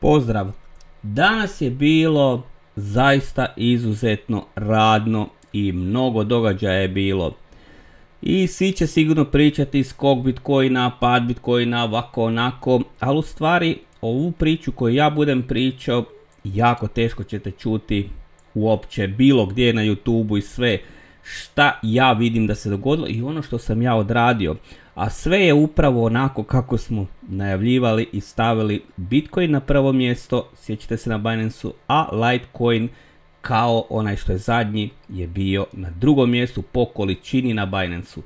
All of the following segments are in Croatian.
Pozdrav! Danas je bilo zaista izuzetno radno i mnogo događaja je bilo. I svi će sigurno pričati skok Bitcoina, pad Bitcoina, ovako onako, ali u stvari ovu priču koju ja budem pričao jako teško ćete čuti uopće bilo gdje na YouTubeu i sve šta ja vidim da se dogodilo i ono što sam ja odradio. A sve je upravo onako kako smo najavljivali i stavili Bitcoin na prvo mjesto, sjećate se na Binance-u, a Litecoin kao onaj što je zadnji je bio na drugom mjestu po količini na Binance-u.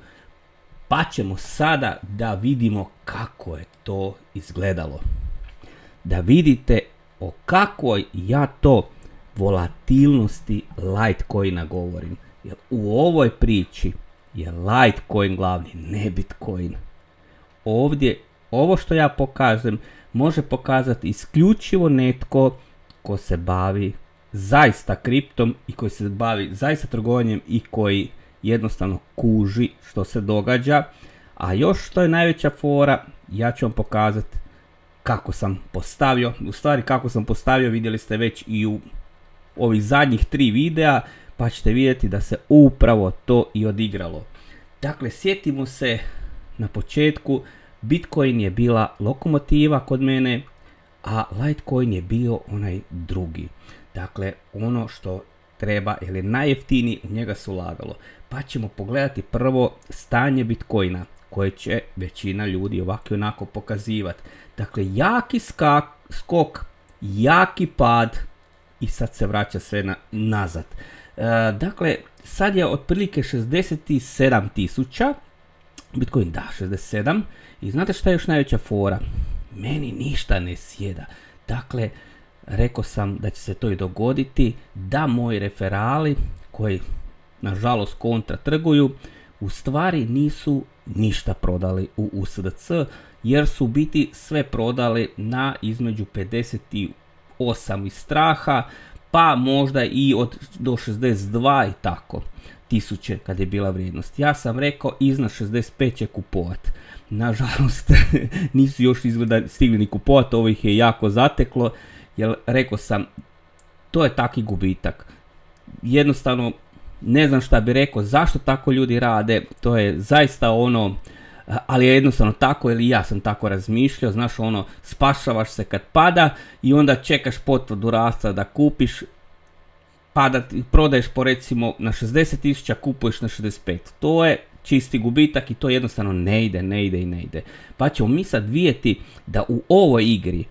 Pa ćemo sada da vidimo kako je to izgledalo. Da vidite o kakvoj ja to volatilnosti Litecoina govorim. Jer u ovoj priči je Litecoin glavni, ne Bitcoin. Ovdje, ovo što ja pokažem, može pokazati isključivo netko ko se bavi zaista kriptom i koji se bavi zaista trgovanjem i koji jednostavno kuži što se događa. A još što je najveća fora, ja ću vam pokazati kako sam postavio. U stvari kako sam postavio vidjeli ste već i u ovih zadnjih 3 videa, pa ćete vidjeti da se upravo to i odigralo. Dakle, sjetimo se na početku, Bitcoin je bila lokomotiva kod mene, a Litecoin je bio onaj drugi. Dakle, ono što treba, jer je najjeftiniji, u njega se ulagalo. Pa ćemo pogledati prvo stanje Bitcoina, koje će većina ljudi ovako i onako pokazivati. Dakle, jaki skok, jaki pad i sad se vraća sve nazad. Dakle, sad je otprilike 67.000, Bitcoin da, 67, i znate šta je još najveća fora? Meni ništa ne sjeda. Dakle, rekao sam da će se to i dogoditi, da moji referali, koji nažalost kontra trguju, u stvari nisu ništa prodali u USDC, jer su u biti sve prodali na između 58 iz straha, pa možda i do 62 i tako tisuće kad je bila vrijednost. Ja sam rekao iznad 65 će kupovat. Nažalost nisu još izgleda stigli ni kupovat, ovo ih je jako zateklo, jer rekao sam to je taki gubitak. Jednostavno ne znam šta bi rekao, zašto tako ljudi rade, to je zaista ono, ali je jednostavno tako, ili ja sam tako razmišljao, znaš ono, spašavaš se kad pada i onda čekaš potvrdu rasta da kupiš, prodaješ po recimo na 60.000, kupuješ na 65, to je čisti gubitak i to jednostavno ne ide. Pa ćemo mi sad vidjeti da u ovoj igri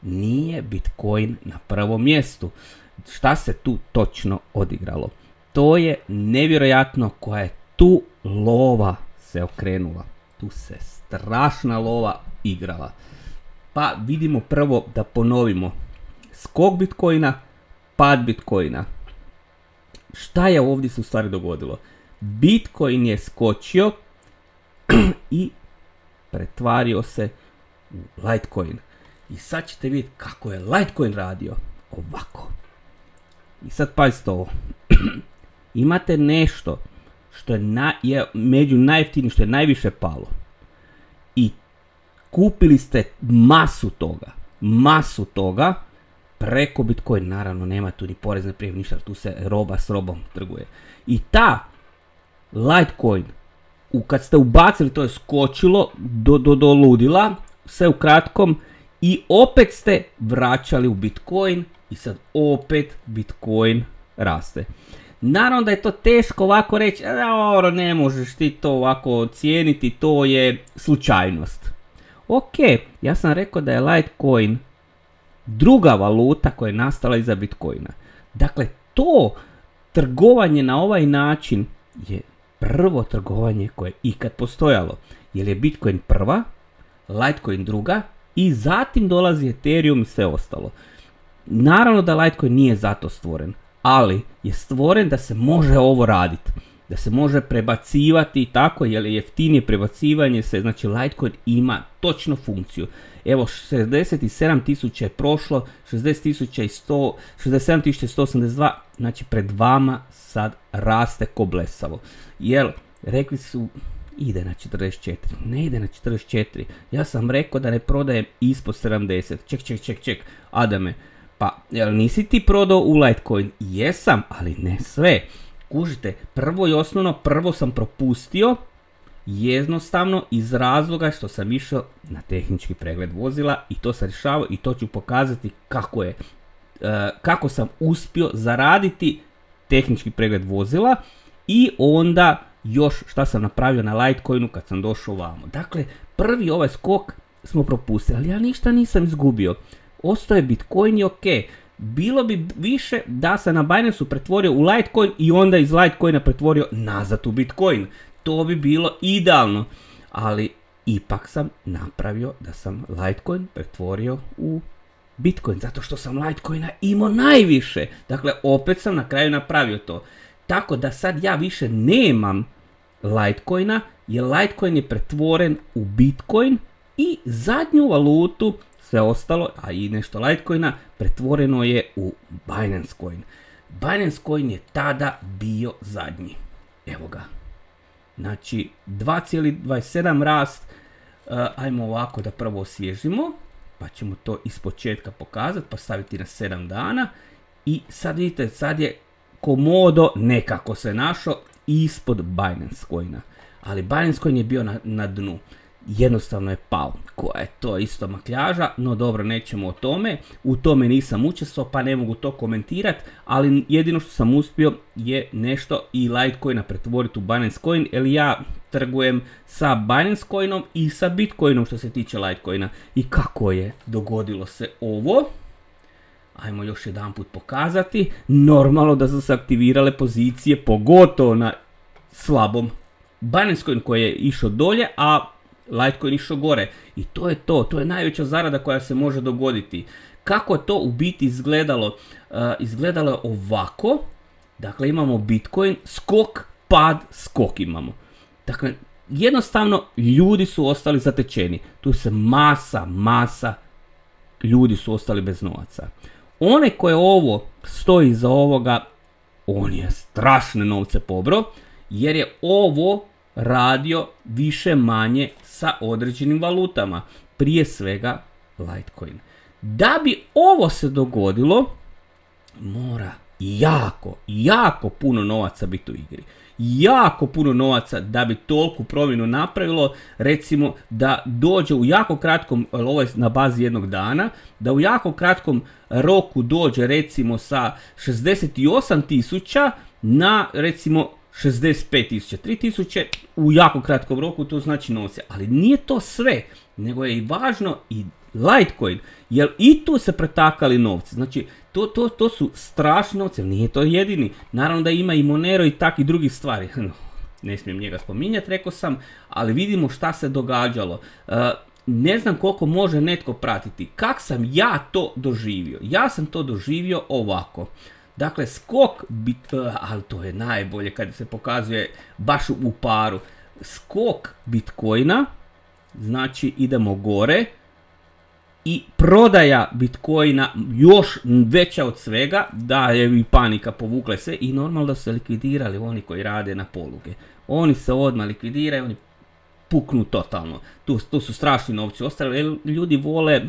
nije Bitcoin na prvom mjestu. Šta se tu točno odigralo? To je nevjerojatno koja je tu lova se okrenula. Tu se strašna lova igrala. Pa vidimo prvo da ponovimo. Skok Bitcoina, pad Bitcoina. Šta je ovdje se u stvari dogodilo? Bitcoin je skočio i pretvario se u Litecoin. I sad ćete vidjeti kako je Litecoin radio. Ovako. I sad pazite ovo. Imate nešto što je među najjeftinijim, što je najviše palo. I kupili ste masu toga preko Bitcoin. Naravno nema tu ni porezne prijave, ništa, tu se roba s robom trguje. I ta Litecoin, kad ste ubacili, to je skočilo do ludila, sve u kratkom, i opet ste vraćali u Bitcoin i sad opet Bitcoin raste. Naravno da je to teško ovako reći, ne možeš ti to ovako ocijeniti, to je slučajnost. Ok, ja sam rekao da je Litecoin druga valuta koja je nastala iza Bitcoina. Dakle, to trgovanje na ovaj način je prvo trgovanje koje je ikad postojalo. Jer je Bitcoin prva, Litecoin druga i zatim dolazi Ethereum i sve ostalo. Naravno da Litecoin nije zato stvoren, ali je stvoren da se može ovo raditi. Da se može prebacivati i tako, jer je jeftinije prebacivanje se, znači Litecoin ima točno funkciju. Evo 67.000 je prošlo, 67.182, znači pred vama sad raste ko blesavo. Jer rekli su ide na 44, ne ide na 44. Ja sam rekao da ne prodajem ispod 70. Ček, Adame, pa jel nisi ti prodao u Litecoin? Jesam, ali ne sve. Kužite, prvo i osnovno, prvo sam propustio jednostavno iz razloga što sam išao na tehnički pregled vozila i to sam rješavao i to ću pokazati kako sam uspio zaraditi tehnički pregled vozila i onda još šta sam napravio na Litecoinu kad sam došao ovamo. Dakle, prvi ovaj skok smo propustili, ali ja ništa nisam izgubio. Ostao je Bitcoin i ok. Bilo bi više da sam na Binance-u pretvorio u Litecoin i onda iz Litecoina pretvorio nazad u Bitcoin. To bi bilo idealno, ali ipak sam napravio da sam Litecoin pretvorio u Bitcoin, zato što sam Litecoina imao najviše. Dakle, opet sam na kraju napravio to. Tako da sad ja više nemam Litecoina, jer Litecoin je pretvoren u Bitcoin i zadnju valutu, sve ostalo, a i nešto Litecoina, pretvoreno je u Binance Coin. Binance Coin je tada bio zadnji. Evo ga. Znači 2,27 rast. Ajmo ovako da prvo osvježimo, pa ćemo to ispočetka pokazati, pa staviti na 7 dana. I sad vidite, sad je komodo nekako se našao ispod Binance Coina. Ali Binance Coin je bio na dnu. Jednostavno je pao. Koja je to isto makljaža, no dobro, nećemo o tome. U tome nisam učestvovao pa ne mogu to komentirati, ali jedino što sam uspio je nešto i Litecoina pretvoriti u Binance Coin, jer ja trgujem sa Binance Coinom i sa Bitcoinom što se tiče Litecoina. I kako je dogodilo se ovo? Ajmo još jedan put pokazati. Normalno da su se aktivirale pozicije, pogotovo na slabom Binance Coin koji je išao dolje, a Litecoin išao gore. I to je to. To je najveća zarada koja se može dogoditi. Kako to u biti izgledalo? Izgledalo je ovako. Dakle, imamo Bitcoin, skok, pad, skok imamo. Dakle, jednostavno ljudi su ostali zatečeni. Tu se masa ljudi su ostali bez novaca. One koje ovo stoji iza ovoga, on je strašne novce pobrao, jer je ovo radio više manje sa određenim valutama, prije svega Litecoin. Da bi ovo se dogodilo, mora jako puno novaca biti u igri. Jako puno novaca da bi toliku promjenu napravilo, recimo da dođe u jako kratkom, ovo je na bazi jednog dana, da u jako kratkom roku dođe recimo sa 68.000 na recimo 65.000, 3.000 u jako kratkom roku, to znači novce. Ali nije to sve, nego je i važno i Litecoin, jer i tu se pretakali novci. Znači, to su strašni novci, nije to jedini. Naravno da ima i Monero i takvih drugih stvari. Ne smijem njega spominjati, rekao sam, ali vidimo šta se događalo. Ne znam koliko može netko pratiti. Kak sam ja to doživio? Ja sam to doživio ovako. Dakle, skok, ali to je najbolje kad se pokazuje baš u paru. Skok Bitcoina, znači idemo gore i prodaja Bitcoina još veća od svega, da je i panika povukla se i normalno da su se likvidirali oni koji rade na poluge. Oni se odmah likvidiraju, oni puknu totalno. Tu su strašni novci ostali, jer ljudi vole,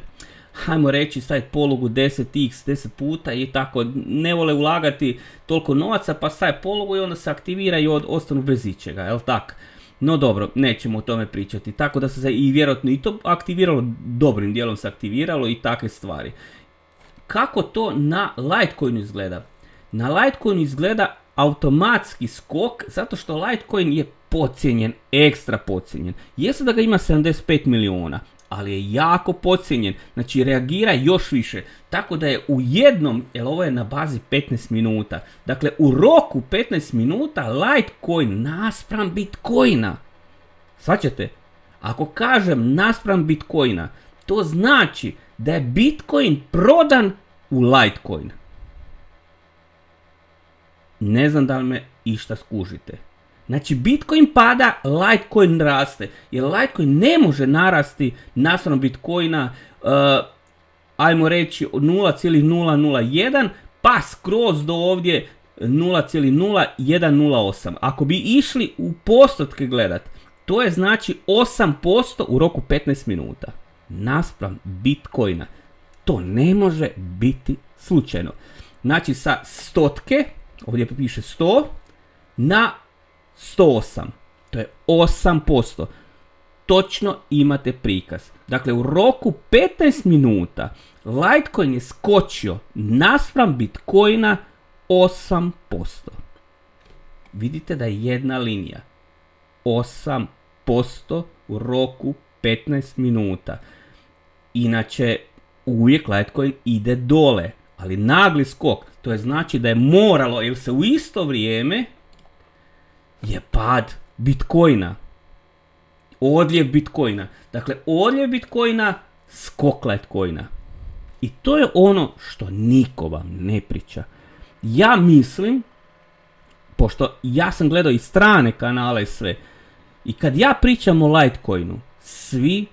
hajmo reći, staviti polugu 10x, 10 puta i tako, ne vole ulagati toliko novaca, pa staje polugu i onda se aktivira i ostanu bez ičega, jel tak? No dobro, nećemo o tome pričati, tako da se i vjerojatno i to aktiviralo, dobrim dijelom se aktiviralo i takve stvari. Kako to na Litecoinu izgleda? Na Litecoinu izgleda automatski skok, zato što Litecoin je podcijenjen, ekstra podcijenjen. Jeste da ga ima 75 miliona, ali je jako podcijenjen, znači reagira još više, tako da je u jednom, jer ovo je na bazi 15 minuta, dakle u roku 15 minuta Litecoin naspram Bitcoina, shvaćate? Ako kažem naspram Bitcoina, to znači da je Bitcoin prodan u Litecoin. Ne znam da li me išta skužite. Znači Bitcoin pada, Litecoin raste, jer Litecoin ne može narasti naspram Bitcoina, ajmo reći 0,001, pa skroz do ovdje 0,0108. Ako bi išli u postotke gledat, To je znači 8% u roku 15 minuta. Naspram Bitcoina. To ne može biti slučajno. Znači sa stotke, ovdje piše 100, na 108. To je 8%. Točno imate prikaz. Dakle, u roku 15 minuta Litecoin je skočio naspram Bitcoina 8%. Vidite da je jedna linija. 8% u roku 15 minuta. Inače, uvijek Litecoin ide dole. Ali nagli skok, to je znači da je moralo, jer se u isto vrijeme je pad Bitcoina. Odljev Bitcoina. Dakle, odljev Bitcoina, skok Litecoina. I to je ono što niko vam ne priča. Ja mislim, pošto ja sam gledao i strane kanale i sve, i kad ja pričam o Litecoinu, svi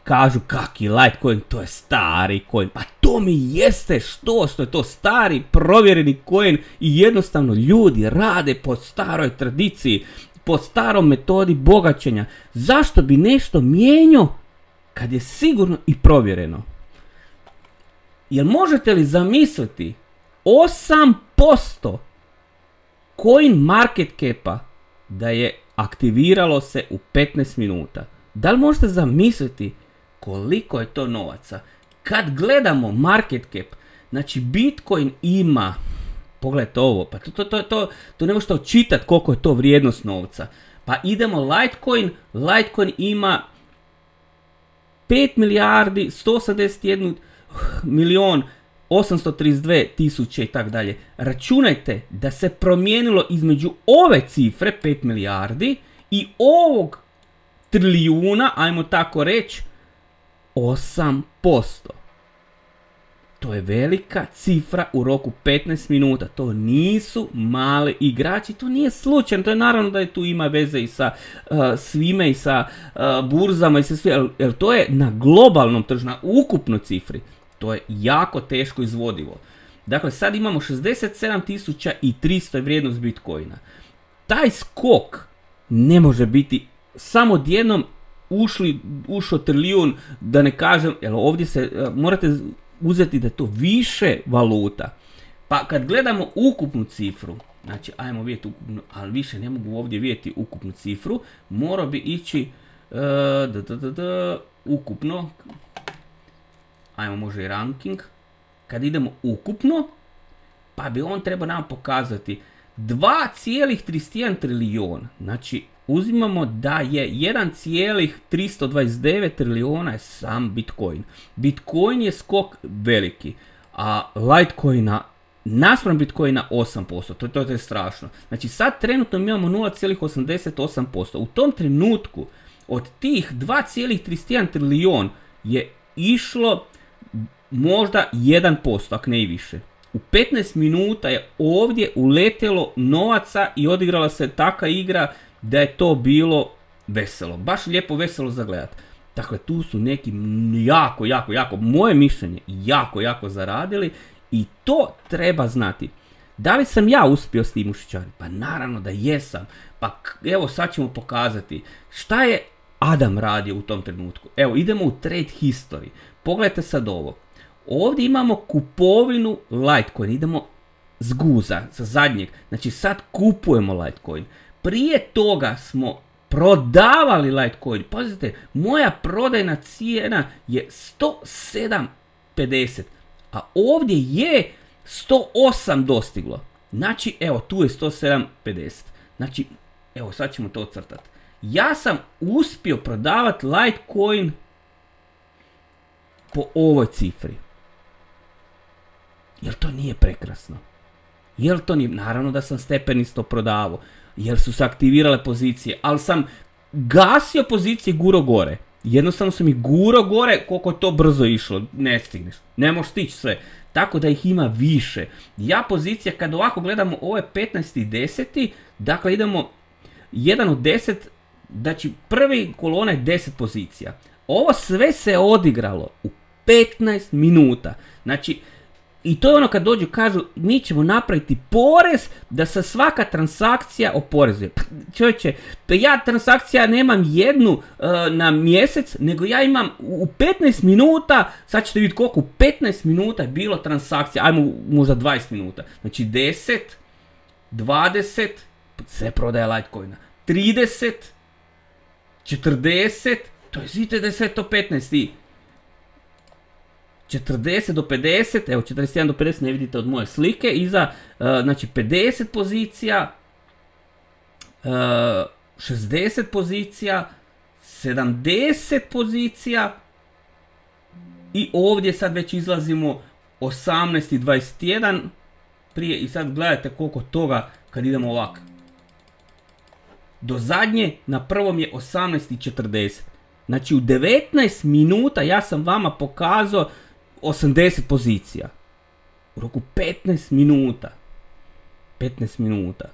kažu kaki Litecoin, to je stari coin. Pa to mi jeste što je to stari provjereni coin i jednostavno ljudi rade po staroj tradiciji, po starom metodi bogaćenja. Zašto bi nešto mijenjao kad je sigurno i provjereno? Jel možete li zamisliti 8% coin market capa da je aktiviralo se u 15 minuta? Da li možete zamisliti koliko je to novaca? Kad gledamo market cap, znači Bitcoin ima, pogledajte ovo, pa to ne možete očitati koliko je to vrijednost novca. Pa idemo Litecoin ima 5 milijardi 181 milion 832 tisuće i tak dalje. Računajte da se promijenilo između ove cifre 5 milijardi i ovog trilijuna, ajmo tako reći, 8%. To je velika cifra u roku 15 minuta. To nisu mali igrači, to nije slučajno. To je naravno da je tu ima veze i sa svime i sa burzama i sa sve, jer to je na globalnom tržištu, na ukupnoj cifri. To je jako teško izvodivo. Dakle, sad imamo 67.300 vrijednost Bitcoina. Taj skok ne može biti samo odjednom ušao trilijun, da ne kažem, jer ovdje se morate uzeti da je to više valuta. Pa kad gledamo ukupnu cifru, znači ajmo vidjeti ukupnu, ali više ne mogu ovdje vidjeti ukupnu cifru, morao bi ići ukupno, ajmo može i ranking, kad idemo ukupno, pa bi on trebao nam pokazati 2,31 trilijon, znači uzimamo da je 1,329 trilijona je sam Bitcoin. Bitcoin je skok veliki, a Litecoina naspram Bitcoina 8%. To je strašno. Znači sad trenutno mi imamo 0,88%. U tom trenutku od tih 2,31 trilijon je išlo možda 1%, ako ne i više. U 15 minuta je ovdje uletjelo novaca i odigrala se taka igra da je to bilo veselo. Baš lijepo veselo za gledat. Dakle, tu su neki jako, moje mišljenje, jako zaradili i to treba znati. Da li sam ja uspio s tim ušićariti? Pa naravno da jesam. Pa evo sad ćemo pokazati šta je Adam radio u tom trenutku. Evo, idemo u trade history. Pogledajte sad ovo. Ovdje imamo kupovinu Litecoin. Idemo s guza, sa zadnjeg. Znači sad kupujemo Litecoin. Prije toga smo prodavali Litecoin. Pazite, moja prodajna cijena je 107,50. A ovdje je 108 dostiglo. Znači, evo, tu je 107,50. Znači, evo, sad ćemo to ocrtati. Ja sam uspio prodavati Litecoin po ovoj cifri. Jel to nije prekrasno? Jel to nije? Naravno da sam stepenisto prodavao. Jer su se aktivirale pozicije. Ali sam gasio pozicije guro gore. Jednostavno sam ih guro gore koliko je to brzo išlo. Ne stigneš. Ne možeš stići sve. Tako da ih ima više. Ja pozicija kad ovako gledamo ovo je 15.10. Dakle idemo 1 od 10. Znači prvi kolona je 10 pozicija. Ovo sve se odigralo u 15 minuta. Znači I to je ono kad dođu kažu mi ćemo napraviti porez da se svaka transakcija oporezuje. Čovječe, pa ja transakcija nemam jednu na mjesec, nego ja imam u 15 minuta, sad ćete vidjeti koliko, u 15 minuta je bilo transakcija, ajmo možda 20 minuta. Znači 10, 20, sve prodaje Litecoina, 30, 40, to je vidite da je sve to 15 i 40 do 50, evo 41 do 50 ne vidite od moje slike, iza znači 50 pozicija, 60 pozicija, 70 pozicija i ovdje sad već izlazimo 18 i 21 prije i sad gledajte koliko toga kad idemo ovako. Do zadnje na prvom je 18 i 40. Znači u 19 minuta ja sam vama pokazao 80 pozicija. U roku 15 minuta. 15 minuta.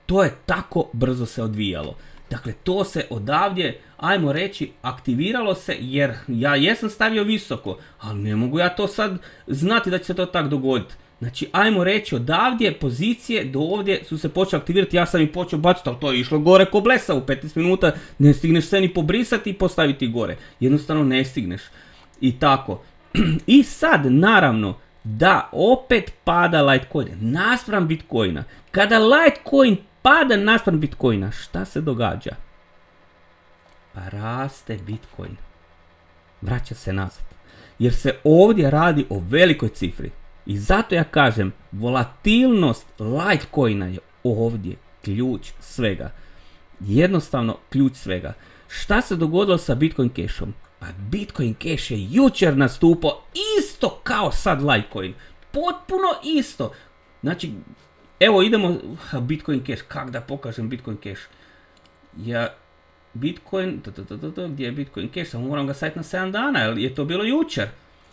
To je tako brzo se odvijalo. Dakle, to se odavdje, ajmo reći, aktiviralo se jer ja jesam stavio visoko, ali ne mogu ja to sad znati da će se to tako dogoditi. Znači, ajmo reći, odavdje pozicije do ovdje su se počeli aktivirati, ja sam i počeo baciti, ali to je išlo gore ko blesa u 15 minuta, ne stigneš se ni pobrisati i postaviti gore. Jednostavno ne stigneš. I tako. I sad, naravno, da opet pada Litecoin naspram Bitcoina. Kada Litecoin pada naspram Bitcoina, šta se događa? Pa raste Bitcoin. Vraća se nazad. Jer se ovdje radi o velikoj cifri. I zato ja kažem, volatilnost Litecoina je ovdje ključ svega. Jednostavno ključ svega. Šta se dogodilo sa Bitcoin Cashom? Pa Bitcoin Cash je jučer nastupao isto kao sad Litecoin. Potpuno isto. Znači, evo idemo Bitcoin Cash. Kako da pokažem Bitcoin Cash? Ja, Bitcoin, gdje je Bitcoin Cash? Samo moram ga staviti na 7 dana, jer je to bilo jučer.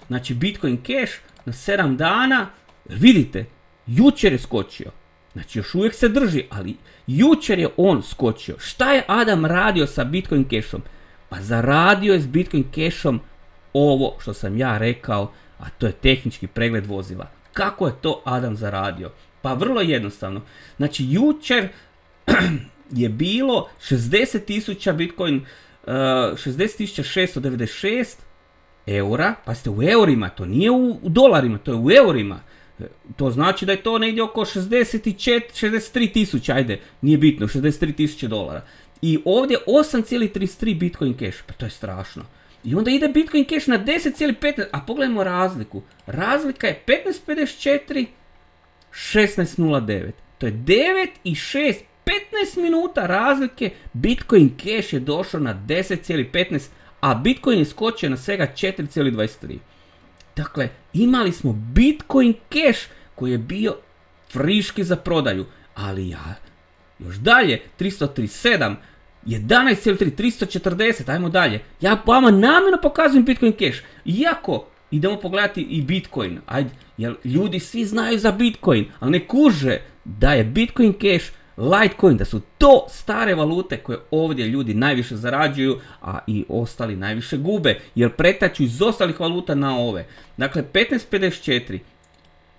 Znači Bitcoin Cash na 7 dana, vidite, jučer je skočio. Znači još uvijek se drži, ali jučer je on skočio. Šta je Adam radio sa Bitcoin Cashom? Pa zaradio je s Bitcoin Cashom ovo što sam ja rekao, a to je tehnički pregled vozila. Kako je to Adam zaradio? Pa vrlo jednostavno. Znači jučer je bilo 60.000 Bitcoin, 60.696 eura, pa ste u eurima, to nije u dolarima, to je u eurima. To znači da je to negdje oko 63.000, ajde, nije bitno, 63.000 dolara. I ovdje 8,33 Bitcoin Cash, pa to je strašno. I onda ide Bitcoin Cash na 10,15, a pogledajmo razliku. Razlika je 15,54, 16,09. To je 9 i 6, 15 minuta razlike. Bitcoin Cash je došao na 10,15, a Bitcoin je skočio na svega 4,23. Dakle, imali smo Bitcoin Cash koji je bio friški za prodaju, ali ja, još dalje, 337, 11,3, 340, ajmo dalje. Ja vama namjerno pokazujem Bitcoin Cash, iako idemo pogledati i Bitcoin, ajde, jer ljudi svi znaju za Bitcoin, ali ne kuže da je Bitcoin Cash Litecoin, da su to stare valute koje ovdje ljudi najviše zarađuju, a i ostali najviše gube, jer pretaču iz ostalih valuta na ove. Dakle, 15,54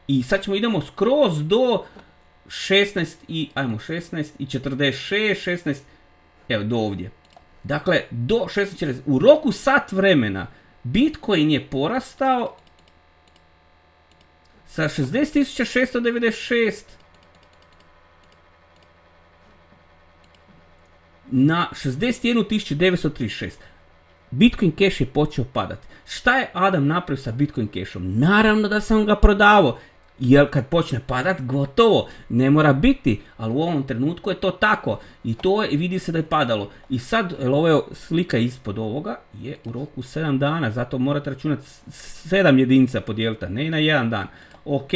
i sad idemo skroz do 16 i, ajmo 16 i 46, 16, evo do ovdje. Dakle, do 16,40, u roku sat vremena Bitcoin je porastao sa 60.696 na 61.936. Bitcoin Cash je počeo padati. Šta je Adam napravio sa Bitcoin Cashom? Naravno da sam ga prodavao. Jer kad počne padat, gotovo, ne mora biti, ali u ovom trenutku je to tako. I to je, vidi se da je padalo. I sad, ovo je slika ispod ovoga, je u roku 7 dana, zato morate računati 7 jedinica podijeliti, ne na jedan dan. Ok,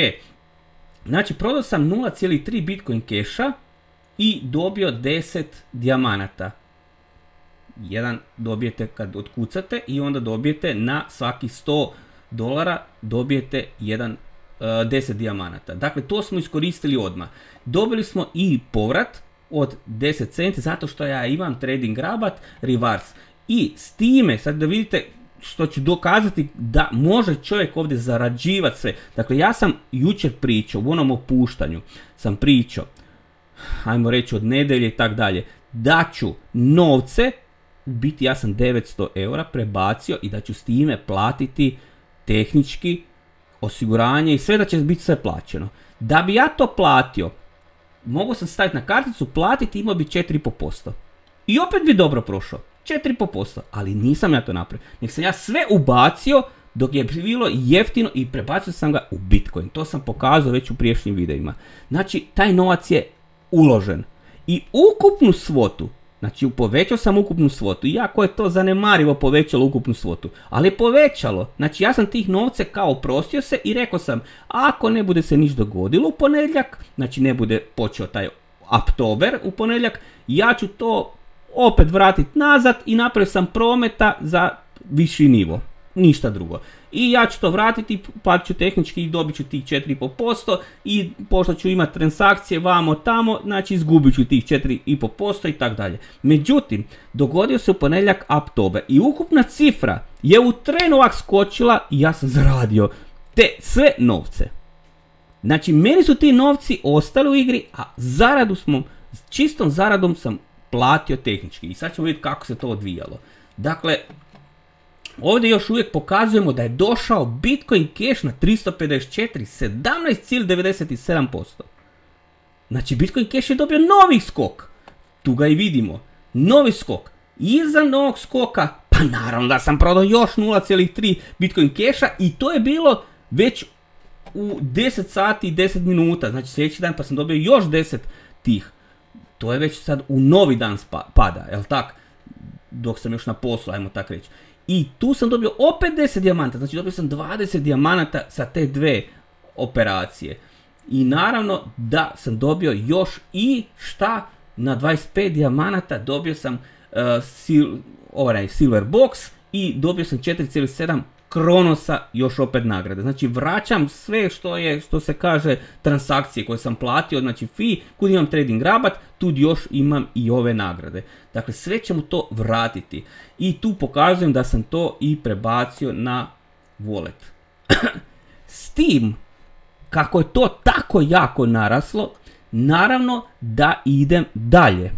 znači prodao sam 0,3 Bitcoin Casha i dobio 10 dijamanata. Jedan dobijete kad otkucate i onda dobijete na svaki $100 dobijete 10 dijamanata. Dakle, to smo iskoristili odmah. Dobili smo i povrat od 10 centi zato što ja imam trading rabat reverse. I s time, sad da vidite što ću dokazati da može čovjek ovdje zarađivati sve. Dakle, ja sam jučer pričao, u onom opuštanju sam pričao, ajmo reći od nedelje i tak dalje, da ću novce, u biti ja sam 900 eura prebacio i da ću s time platiti tehnički osiguranje i sve, da će biti sve plaćeno. Da bi ja to platio, mogu sam staviti na karticu, platiti, imao bi 4,5%. I opet bi dobro prošao. 4,5%. Ali nisam ja to napravio. Nek sam ja sve ubacio dok je bilo jeftino i prebacio sam ga u Bitcoin. To sam pokazao već u prijašnjim videima. Znači, taj novac je uložen. I ukupnu svotu, znači povećao sam ukupnu svotu, iako je to zanemarivo povećalo ukupnu svotu, ali je povećalo. Znači ja sam tih novce kao oprostio se i rekao sam, ako ne bude se niš dogodilo u ponedjeljak, znači ne bude počeo taj oktober u ponedjeljak, ja ću to opet vratiti nazad i napravio sam prometa za viši nivo. Ništa drugo. I ja ću to vratiti, platit ću tehnički i dobit ću tih 4,5% i pošto ću imati transakcije vamo tamo, znači izgubit ću tih 4,5% i tako dalje. Međutim, dogodio se u ponedjeljak oktober i ukupna cifra je u trenu ovak skočila i ja sam zaradio te sve novce. Znači, meni su ti novci ostali u igri, a čistom zaradom sam platio tehnički. I sad ćemo vidjeti kako se to odvijalo. Dakle, ovdje još uvijek pokazujemo da je došao Bitcoin Cash na 354, 17,97%. Znači, Bitcoin Cash je dobio novi skok. Tu ga i vidimo. Novi skok. Iza novog skoka, pa naravno da sam prodao još 0,3 Bitcoin Casha i to je bilo već u 10 sati i 10 minuta. Znači, sljedeći dan pa sam dobio još 10 tih. To je već sad u novi dan pada, jel tak? Dok sam još na poslu, ajmo tak reći. I tu sam dobio opet 10 dijamanta, znači dobio sam 20 dijamanata sa te dve operacije. I naravno da sam dobio još i šta, na 25 dijamanata dobio sam silver box i dobio sam 4,7 Kronosa još opet nagrade. Znači vraćam sve što se kaže transakcije koje sam platio, znači fee, kud imam trading rabat, tu još imam i ove nagrade. Dakle, sve ćemo to vratiti. I tu pokazujem da sam to i prebacio na wallet. S tim, kako je to tako jako naraslo, naravno da idem dalje.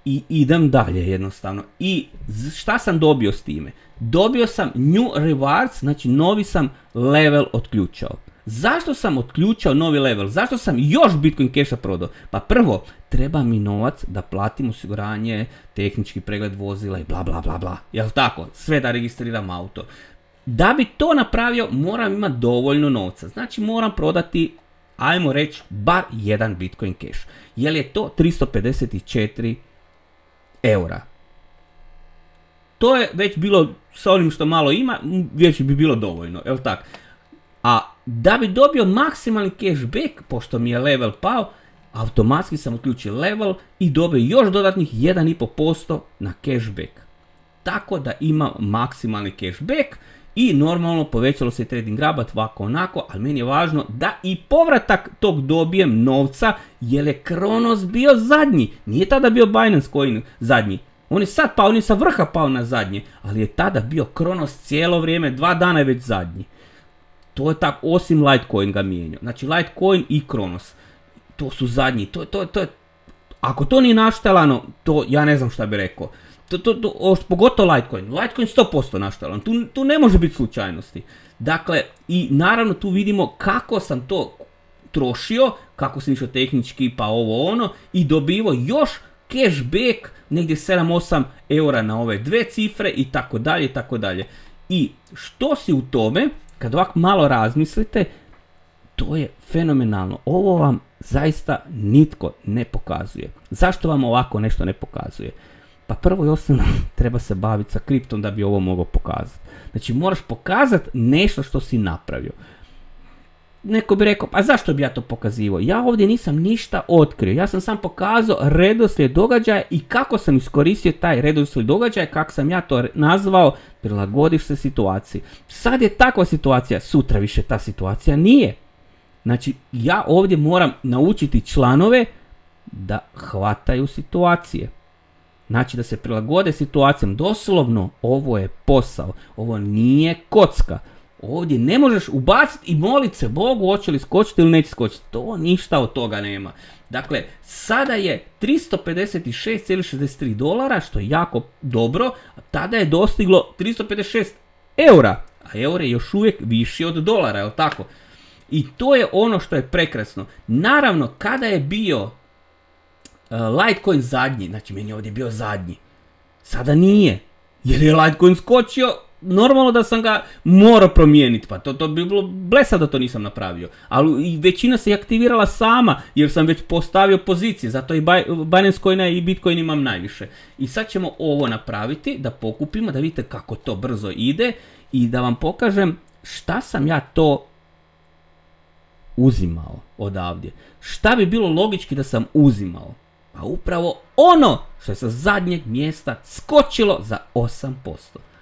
I idem dalje jednostavno. I šta sam dobio s time? Dobio sam new rewards, znači novi sam level otključao. Zašto sam otključao novi level? Zašto sam još Bitcoin Casha prodao? Pa prvo, treba mi novac da platim osiguranje, tehnički pregled vozila i bla bla bla bla. Jel tako? Sve da registriram auto. Da bi to napravio, moram imati dovoljno novca. Znači moram prodati, ajmo reći, bar jedan Bitcoin Cash. Jer je to 354 eura. To je već bilo, sa onim što malo ima, već bi bilo dovoljno, jel tak? A da bi dobio maksimalni cashback, pošto mi je level pao, automatski sam uključio level i dobio još dodatnih 1,5% na cashback. Tako da imam maksimalni cashback i normalno povećalo se trading rabat ovako onako, ali meni je važno da i povratak tog dobijem novca, jer je Kronos bio zadnji. Nije tada bio Binance Coin zadnji. On je sad pao, on je sa vrha pao na zadnje, ali je tada bio Kronos cijelo vrijeme, 2 dana je već zadnji. To je tako, osim Litecoin ga mijenjao. Znači Litecoin i Kronos, to su zadnji. To je, ako to nije naštelano, to ja ne znam šta bi rekao. Pogotovo Litecoin. Litecoin 100% naštelan, tu ne može biti slučajnosti. Dakle, i naravno tu vidimo kako sam to trošio, kako sam išao tehnički pa ovo ono i dobivao još cashback negdje 7-8 eura na ove dve cifre i tako dalje i tako dalje. I što si u tome, kad ovako malo razmislite, to je fenomenalno. Ovo vam zaista nitko ne pokazuje. Zašto vam ovako nešto ne pokazuje? Pa prvo i osnovno treba se baviti sa kriptom da bi ovo mogao pokazati. Znači moraš pokazati nešto što si napravio. Neko bi rekao, pa zašto bi ja to pokazivao? Ja ovdje nisam ništa otkrio. Ja sam sam pokazao redoslijed događaja i kako sam iskoristio taj redoslijed događaja, kako sam ja to nazvao, prilagodiš se situaciji. Sad je takva situacija, sutra više ta situacija nije. Znači ja ovdje moram naučiti članove da hvataju situacije. Znači da se prilagode situacijama. Doslovno, ovo je posao. Ovo nije kocka. Ovdje ne možeš ubaciti i moliti se Bogu hoće li skočiti ili neće skočiti. To ništa od toga nema. Dakle, sada je $356,63, što je jako dobro. Tada je dostiglo 356 eura. A euro je još uvijek viši od dolara, jel tako? I to je ono što je prekrasno. Naravno, kada je bio Litecoin zadnji, znači meni je ovdje bio zadnji, sada nije, jer je Litecoin skočio, normalno da sam ga morao promijeniti, pa to bi bilo blesa da to nisam napravio, ali i većina se aktivirala sama, jer sam već postavio pozicije, zato i Binance Coina i Bitcoin imam najviše. I sad ćemo ovo napraviti, da pokupimo, da vidite kako to brzo ide i da vam pokažem šta sam ja to uzimao odavdje. Šta bi bilo logički da sam uzimao? Pa upravo ono što je sa zadnjeg mjesta skočilo za 8%.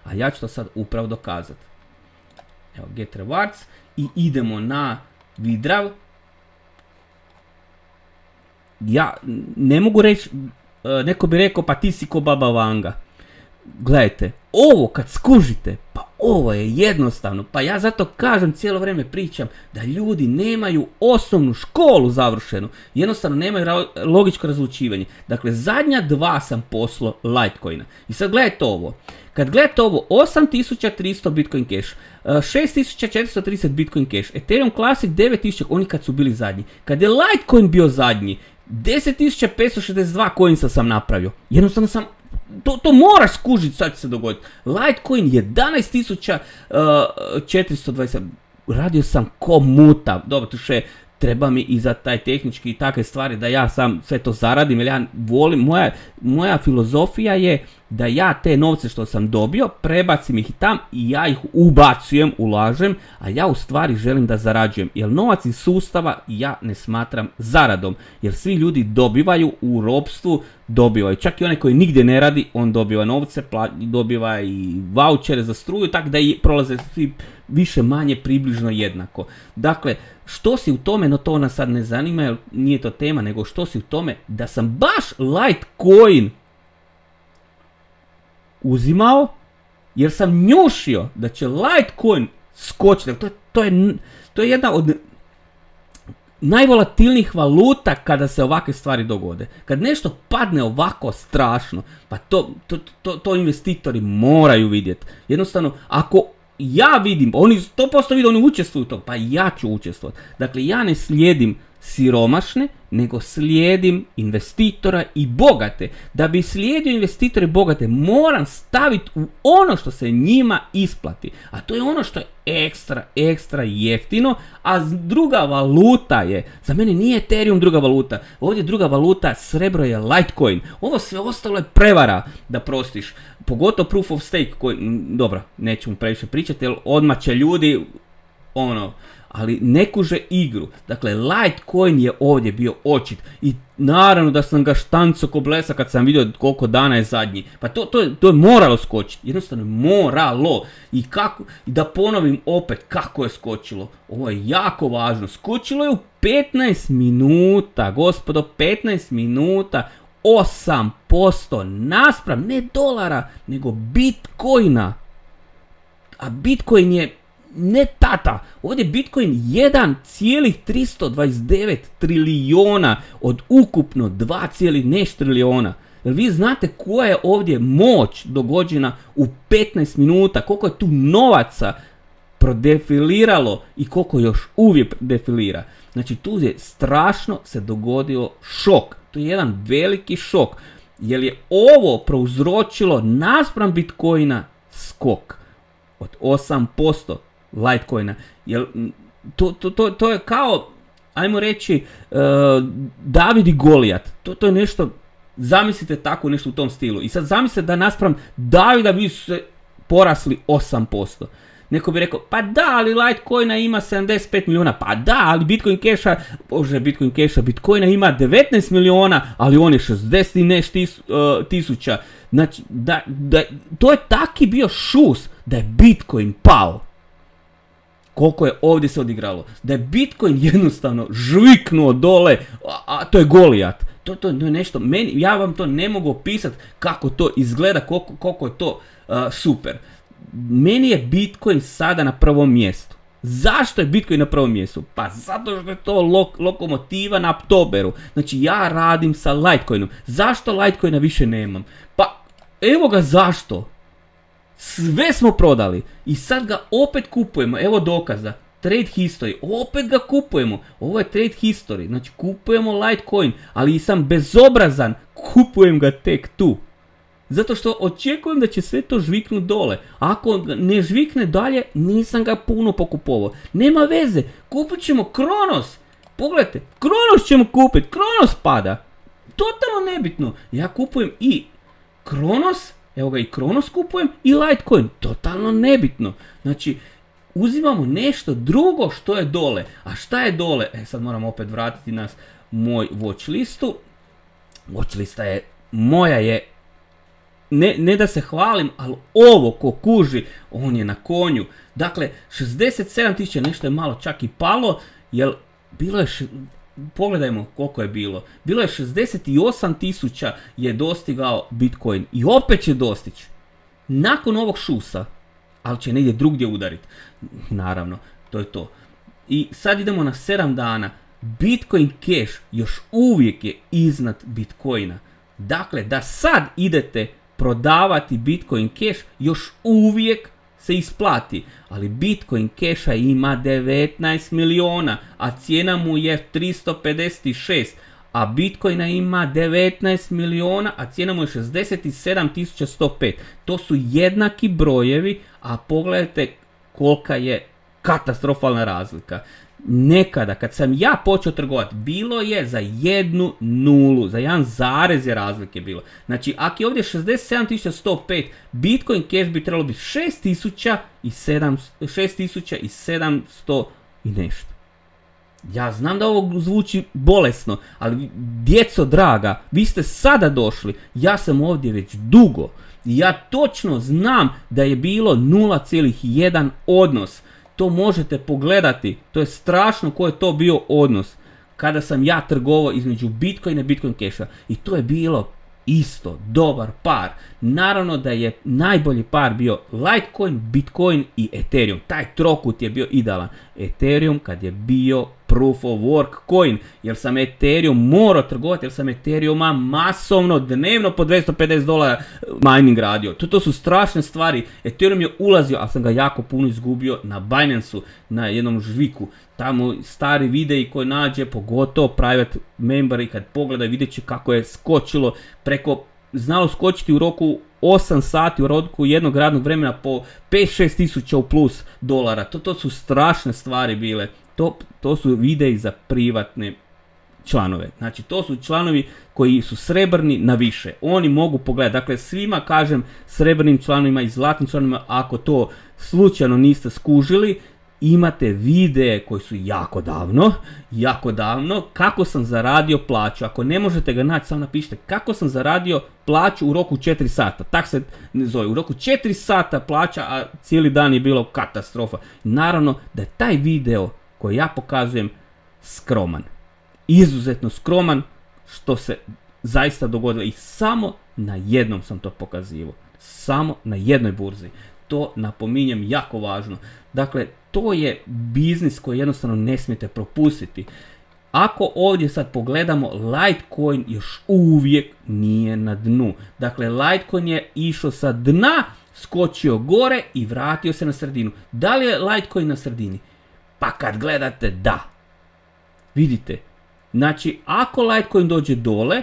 A ja ću to sad upravo dokazati. Evo, get rewards i idemo na vidrav. Ja ne mogu reći, neko bi rekao pa ti si ko Baba Vanga. Gledajte, ovo kad skužite, pa ovo je jednostavno, pa ja zato kažem, cijelo vrijeme pričam da ljudi nemaju osnovnu školu završenu, jednostavno nemaju logičko razlučivanje. Dakle, zadnja dva sam poslao Litecoina. I sad gledajte ovo, kad gledate ovo, 8300 Bitcoin Cash, 6430 Bitcoin Cash, Ethereum Classic 9000, oni kad su bili zadnji. Kad je Litecoin bio zadnji, 10562 coinsa sam napravio, jednostavno sam to moraš skužiti, sad će se dogoditi. Litecoin 11420, radio sam ko mutav. Dobro, tu še treba mi i za taj tehnički i takve stvari da ja sam sve to zaradim, jer ja volim, moja filozofija je da ja te novce što sam dobio, prebacim ih tam i ja ih ubacujem, ulažem, a ja u stvari želim da zarađujem, jer novac iz sustava ja ne smatram zaradom, jer svi ljudi dobivaju u ropstvu, dobivaju, čak i onaj koji nigdje ne radi, on dobiva novce, dobiva i vouchere za struju, tako da i prolaze svi više manje približno jednako. Dakle, što si u tome, no to nas sad ne zanima, jer nije to tema, nego što si u tome da sam baš Litecoin uzimao, jer sam njušio da će Litecoin skočiti. To je jedna od najvolatilnijih valuta kada se ovakve stvari dogode. Kad nešto padne ovako strašno, pa to investitori moraju vidjeti. Jednostavno, ako ja vidim, oni 100% vide, oni učestvuju u tom, pa ja ću učestvovati. Dakle, ja ne slijedim siromašne, nego slijedim investitora i bogate. Da bi slijedio investitore i bogate, moram staviti u ono što se njima isplati. A to je ono što je ekstra jeftino, a druga valuta je, za mene nije Ethereum druga valuta, ovdje druga valuta, srebro je Litecoin. Ovo sve ostalo je prevara, da prostiš. Pogotovo proof of stake, koji, dobro, nećemo previše pričati, jer odmah će ljudi, ali ne kuže igru. Dakle, Litecoin je ovdje bio očit i naravno da sam ga štanco ko blesa kad sam vidio koliko dana je zadnji. Pa to je moralo skočiti, jednostavno moralo. I da ponovim opet kako je skočilo. Ovo je jako važno. Skočilo je u 15 minuta, gospodo, 15 minuta, 8% naspram, ne dolara, nego Bitcoina. A Bitcoin je ne tata, ovdje je Bitcoin 1,329 trilijona od ukupno 2, nešto trilijona. Jer vi znate koja je ovdje moć dogođena u 15 minuta, koliko je tu novaca prodefiliralo i koliko još uvijek defilira. Znači tu je strašno se dogodio šok, to je jedan veliki šok, jer je ovo prouzročilo naspram Bitcoina skok od 8%. Litecoina, jer to je kao, ajmo reći, David i Golijat, to je nešto, zamislite tako nešto u tom stilu. I sad zamislite da naspram Davida vi su se porasli 8%. Neko bi rekao, pa da, ali Litecoina ima 75 milijuna, pa da, ali Bitcoina ima 19 milijuna, ali on je 60 i nešto tisuća. Znači, to je taki bio šus da je Bitcoin pao. Koliko je ovdje se odigralo. Da je Bitcoin jednostavno žviknuo dole, a to je Golijat. To je nešto, ja vam to ne mogu opisati kako to izgleda, koliko je to super. Meni je Bitcoin sada na prvom mjestu. Zašto je Bitcoin na prvom mjestu? Pa zato što je to lokomotiva na Oktoberu. Znači ja radim sa Litecoinom. Zašto Litecoina više nemam? Pa evo ga zašto. Sve smo prodali i sad ga opet kupujemo. Evo dokaza. Trade history. Opet ga kupujemo. Ovo je trade history. Znači kupujemo Litecoin, ali sam bezobrazan. Kupujem ga tek tu. Zato što očekujem da će sve to žviknut dole. Ako ne žvikne dalje, nisam ga puno pokupovao. Nema veze, kupit ćemo Kronos. Pogledajte, Kronos ćemo kupiti, Kronos pada. Totalno nebitno. Ja kupujem i Kronos, evo ga i Kronos kupujem i Litecoin. Totalno nebitno. Znači, uzimamo nešto drugo što je dole. A šta je dole? Sad moram opet vratiti nas moj watch listu. Watch lista je, moja je, ne da se hvalim, ali ovo ko kuži, on je na konju. Dakle, 67.000, nešto je malo čak i palo, jer bilo je, pogledajmo koliko je bilo. Bilo je 68.000 je dostigao Bitcoin i opet će dostići. Nakon ovog šusa, ali će negdje drugdje udariti. Naravno, to je to. I sad idemo na 7 dana. Bitcoin Cash još uvijek je iznad Bitcoina. Dakle, da sad idete prodavati Bitcoin Cash, još uvijek se isplati. Ali Bitcoin Casha ima 19 miliona, a cijena mu je 356. A Bitcoina ima 19 miliona, a cijena mu je 67.105. To su jednaki brojevi, a pogledajte kolika je katastrofalna razlika. Nekada, kad sam ja počeo trgovati, bilo je za 1 nulu, za 1 zarez je razlike bilo. Znači, ako je ovdje 67.105, Bitcoin Cash bi trebalo biti 6.700 i nešto. Ja znam da ovo zvuči bolesno, ali djeco draga, vi ste sada došli, ja sam ovdje već dugo. I ja točno znam da je bilo 0,1 odnos. To možete pogledati, to je strašno koji je to bio odnos kada sam ja trgovao između Bitcoina i Bitcoin Casha. I to je bilo isto, dobar par. Naravno da je najbolji par bio Litecoin, Bitcoin i Ethereum. Taj trokut je bio idealan. Ethereum kad je bio Proof of Work coin, jer sam Ethereum morao trgovati, jer sam Ethereuma masovno, dnevno po $250 mining radio. To su strašne stvari. Ethereum je ulazio, ali sam ga jako puno izgubio na Binance-u, na jednom žviku. Tamo stari videi koji nađe, pogotovo private memberi, kad pogledaju vidjet će kako je skočilo preko, znalo skočiti u roku 8 sati, u roku jednog radnog vremena po 5-6 tisuća u plus dolara. To su strašne stvari bile. To su videi za privatne članove. Znači, to su članovi koji su srebrni na više. Oni mogu pogledati. Dakle, svima kažem, srebrnim članovima i zlatnim članovima, ako to slučajno niste skužili, imate videe koji su jako davno, kako sam zaradio plaću. Ako ne možete ga naći, samo napišite kako sam zaradio plaću u roku 4 sata. Tak se zove, u roku 4 sata plaća, a cijeli dan je bilo katastrofa. Naravno da je taj video koji ja pokazujem skroman. Izuzetno skroman, što se zaista dogodilo. I samo na jednom sam to pokazivao. Samo na jednoj burzi. To napominjem jako važno. Dakle, to je biznis koji jednostavno ne smijete propustiti. Ako ovdje sad pogledamo, Litecoin još uvijek nije na dnu. Dakle, Litecoin je išao sa dna, skočio gore i vratio se na sredinu. Da li je Litecoin na sredini? Pa kad gledate, da. Vidite. Znači, ako Litecoin dođe dole,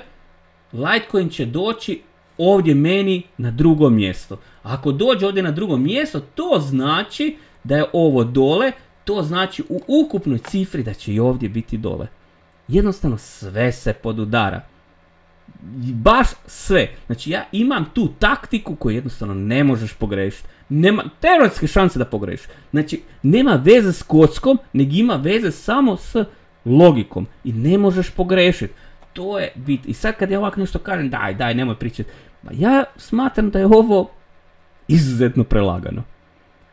Litecoin će doći ovdje meni na drugo mjesto. Ako dođe ovdje na drugo mjesto, to znači da je ovo dole, to znači u ukupnoj cifri da će i ovdje biti dole. Jednostavno sve se podudara. Baš sve. Znači ja imam tu taktiku koju jednostavno ne možeš pogrešiti. Nema teoretske šanse da pogrešiš. Znači nema veze s kockom, nego ima veze samo s logikom. I ne možeš pogrešiti. To je bit. I sad kad ja ovako nešto kažem, daj, nemoj pričati. Ja smatram da je ovo izuzetno prelagano.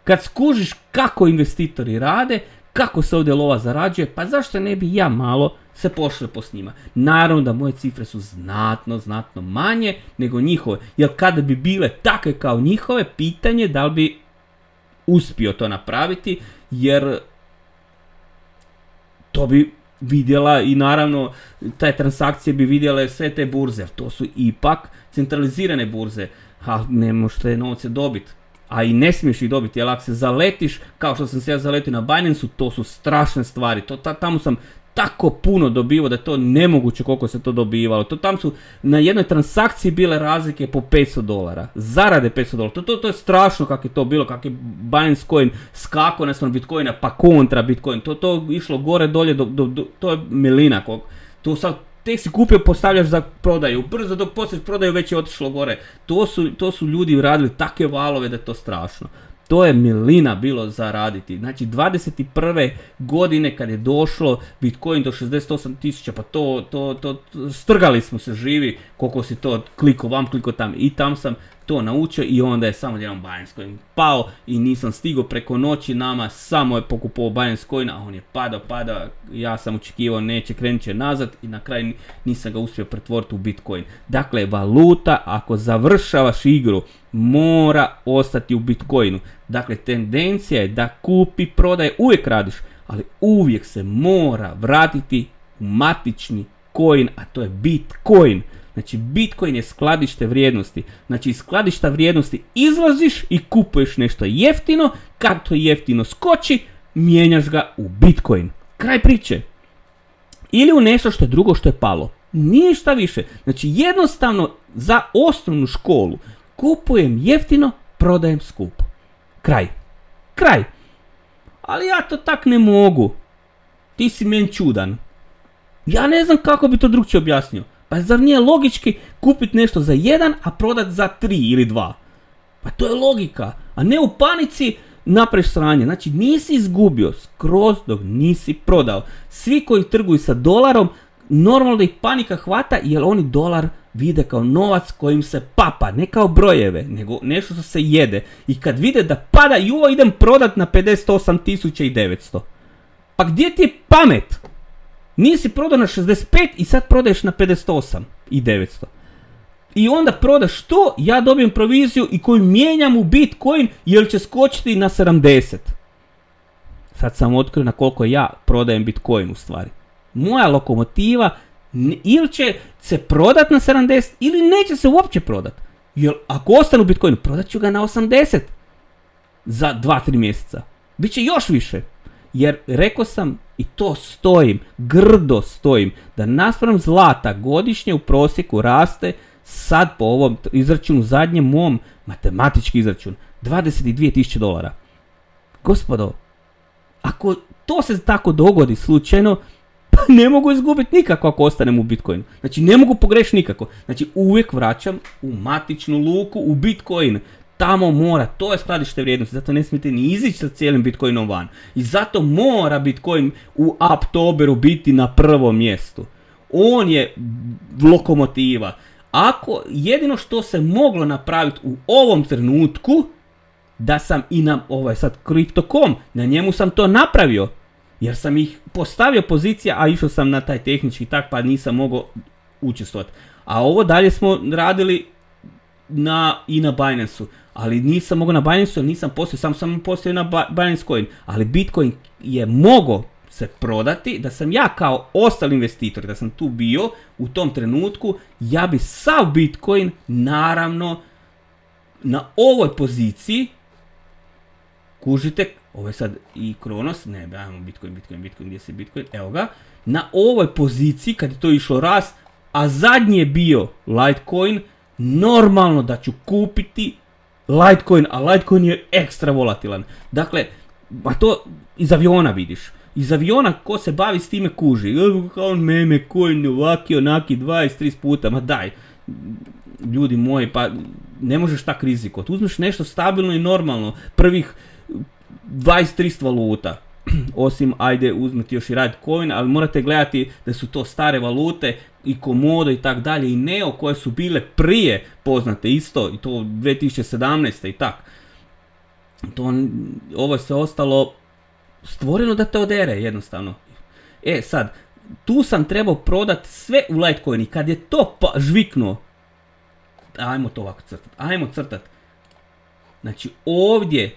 Kad skužiš kako investitori rade, kako se ovdje lova zarađuje, pa zašto ne bi ja malo se pošlepo s njima. Naravno da moje cifre su znatno manje nego njihove, jer kada bi bile takve kao njihove, pitanje da li bi uspio to napraviti, jer to bi vidjela i naravno te transakcije bi vidjele sve te burze, jer to su ipak centralizirane burze, a ne možeš te novce dobiti. A i ne smiješ ih dobiti, jer ako se zaletiš, kao što sam se ja zaletio na Binance-u, to su strašne stvari. Tamo sam tako puno dobivao da je to nemoguće koliko se to dobivalo. Tam su na jednoj transakciji bile razlike po $500. Zarade $500. To je strašno kako je to bilo, kako je Binance Coin skakao naspram Bitcoina pa kontra Bitcoin. To išlo gore dolje, to je milina. To sad tek si kupio, postavljaš za prodaju. Brzo dok poslije prodaju već je otišlo gore. To su ljudi radili takve valove da je to strašno. To je milina bilo za raditi. Znači 21. godine kad je došlo Bitcoin do 68.000, pa to strgali smo se živi koliko si to kliko vam, kliko tam. I tam sam to naučio i onda je samo jedan Binance Coin pao i nisam stigao preko noći, nama samo je pokupovao Binance Coin, a on je padao, ja sam očekivao neće, krenut će nazad i na kraju nisam ga uspio pretvoriti u Bitcoin. Dakle, valuta ako završavaš igru mora ostati u Bitcoinu. Dakle, tendencija je da kupi, prodaj, uvijek radiš, ali uvijek se mora vratiti u matični coin, a to je Bitcoin. Znači, Bitcoin je skladište vrijednosti. Znači, iz skladišta vrijednosti izlaziš i kupuješ nešto jeftino, kad to jeftino skoči, mijenjaš ga u Bitcoin. Kraj priče. Ili u nešto što je drugo što je palo. Ništa više. Znači, jednostavno za osnovnu školu kupujem jeftino, prodajem skupo. Kraj. Ali ja to tak ne mogu. Ti si meni čudan. Ja ne znam kako bi to drugčije objasnio. Pa zar nije logički kupiti nešto za 1, a prodati za 3 ili 2? Pa to je logika. A ne u panici napraviš sranje. Znači nisi izgubio skroz dok nisi prodao. Svi koji trguju sa dolarom, normalno da ih panika hvata jer oni dolar vide kao novac kojim se papa, ne kao brojeve, nego nešto što se jede. I kad vide da pada, idem prodat na 58.900. Pa gdje ti je pamet? Nisi prodao na 65 i sad prodaješ na 58.900. I onda prodaš to, ja dobijem proviziju i koju mijenjam u Bitcoin jer će skočiti na 70. Sad sam otkrio na koliko ja prodajem Bitcoin u stvari. Moja lokomotiva ili će se prodat na 70 ili neće se uopće prodat. Jer ako ostanu u Bitcoinu, prodat ću ga na 80 za 2-3 mjeseca. Biće još više. Jer rekao sam i to stojim, grdo stojim, da naspram zlata godišnje u prosjeku raste sad po ovom izračunu, zadnjem mom matematički izračun, $22.000. Gospodo, ako to se tako dogodi slučajno, pa ne mogu izgubiti nikako ako ostanem u Bitcoinu. Znači ne mogu pogrešiti nikako. Znači uvijek vraćam u matičnu luku, u Bitcoin. Tamo mora, to je skladište vrijednosti, zato ne smijete ni izići sa cijelim Bitcoinom van. I zato mora Bitcoin u Uptoberu biti na prvom mjestu. On je lokomotiva. Ako jedino što se moglo napraviti u ovom trenutku, da sam i na ovaj sad Crypto.com, na njemu sam to napravio. Jer sam ih postavio pozicija, a išao sam na taj tehnički tak, pa nisam mogao učestvovati. A ovo dalje smo radili i na Binance-u. Ali nisam mogao na Binance-u, nisam postao, sam postao na Binance Coin. Ali Bitcoin je mogao se prodati, da sam ja kao ostali investitori, da sam tu bio u tom trenutku, ja bi sav Bitcoin, naravno, na ovoj poziciji, kužite, ovo je sad i Kronos, ne, ajmo Bitcoin, gdje se Bitcoin, evo ga, na ovoj poziciji, kad je to išlo rast, a zadnji je bio Litecoin, normalno da ću kupiti Litecoin, a Litecoin je ekstra volatilan. Dakle, a to iz aviona vidiš. Iz aviona ko se bavi s time kuži. Kao meme, coin, ovaki, onaki, 20-30 puta, ma daj. Ljudi moji, pa ne možeš tak rizikovati. Uzmeš nešto stabilno i normalno. Prvih 20-30 valuta. Osim, ajde, uzmeti još i Litecoin, ali morate gledati da su to stare valute i Komodo i tak dalje i Neo koje su bile prije poznate isto i to 2017. i tak. Ovo je sve ostalo stvoreno da te odere jednostavno. Sad, tu sam trebao prodati sve u Litecoin i kad je to žviknuo, ajmo to ovako crtati, ajmo crtati. Znači ovdje,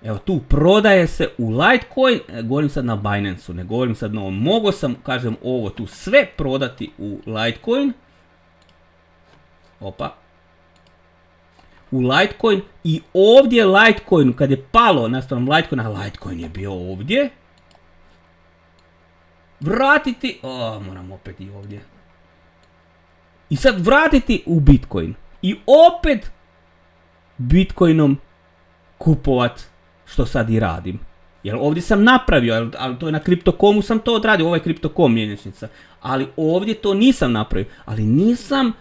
evo tu prodaje se u Litecoin, govorim sad na Binance-u, ne govorim sad na ovom, mogao sam, kažem, ovo tu sve prodati u Litecoin, u Litecoin i ovdje Litecoin, kad je palo naspram Litecoina, Litecoin je bio ovdje, vratiti, moram opet i ovdje, i sad vratiti u Bitcoin i opet Bitcoinom kupovat, što sad i radim. Jer ovdje sam napravio, ali to je na Crypto.comu sam to odradio, ovo je Crypto.com mjenjačnica, ali ovdje to nisam napravio, ali nisam,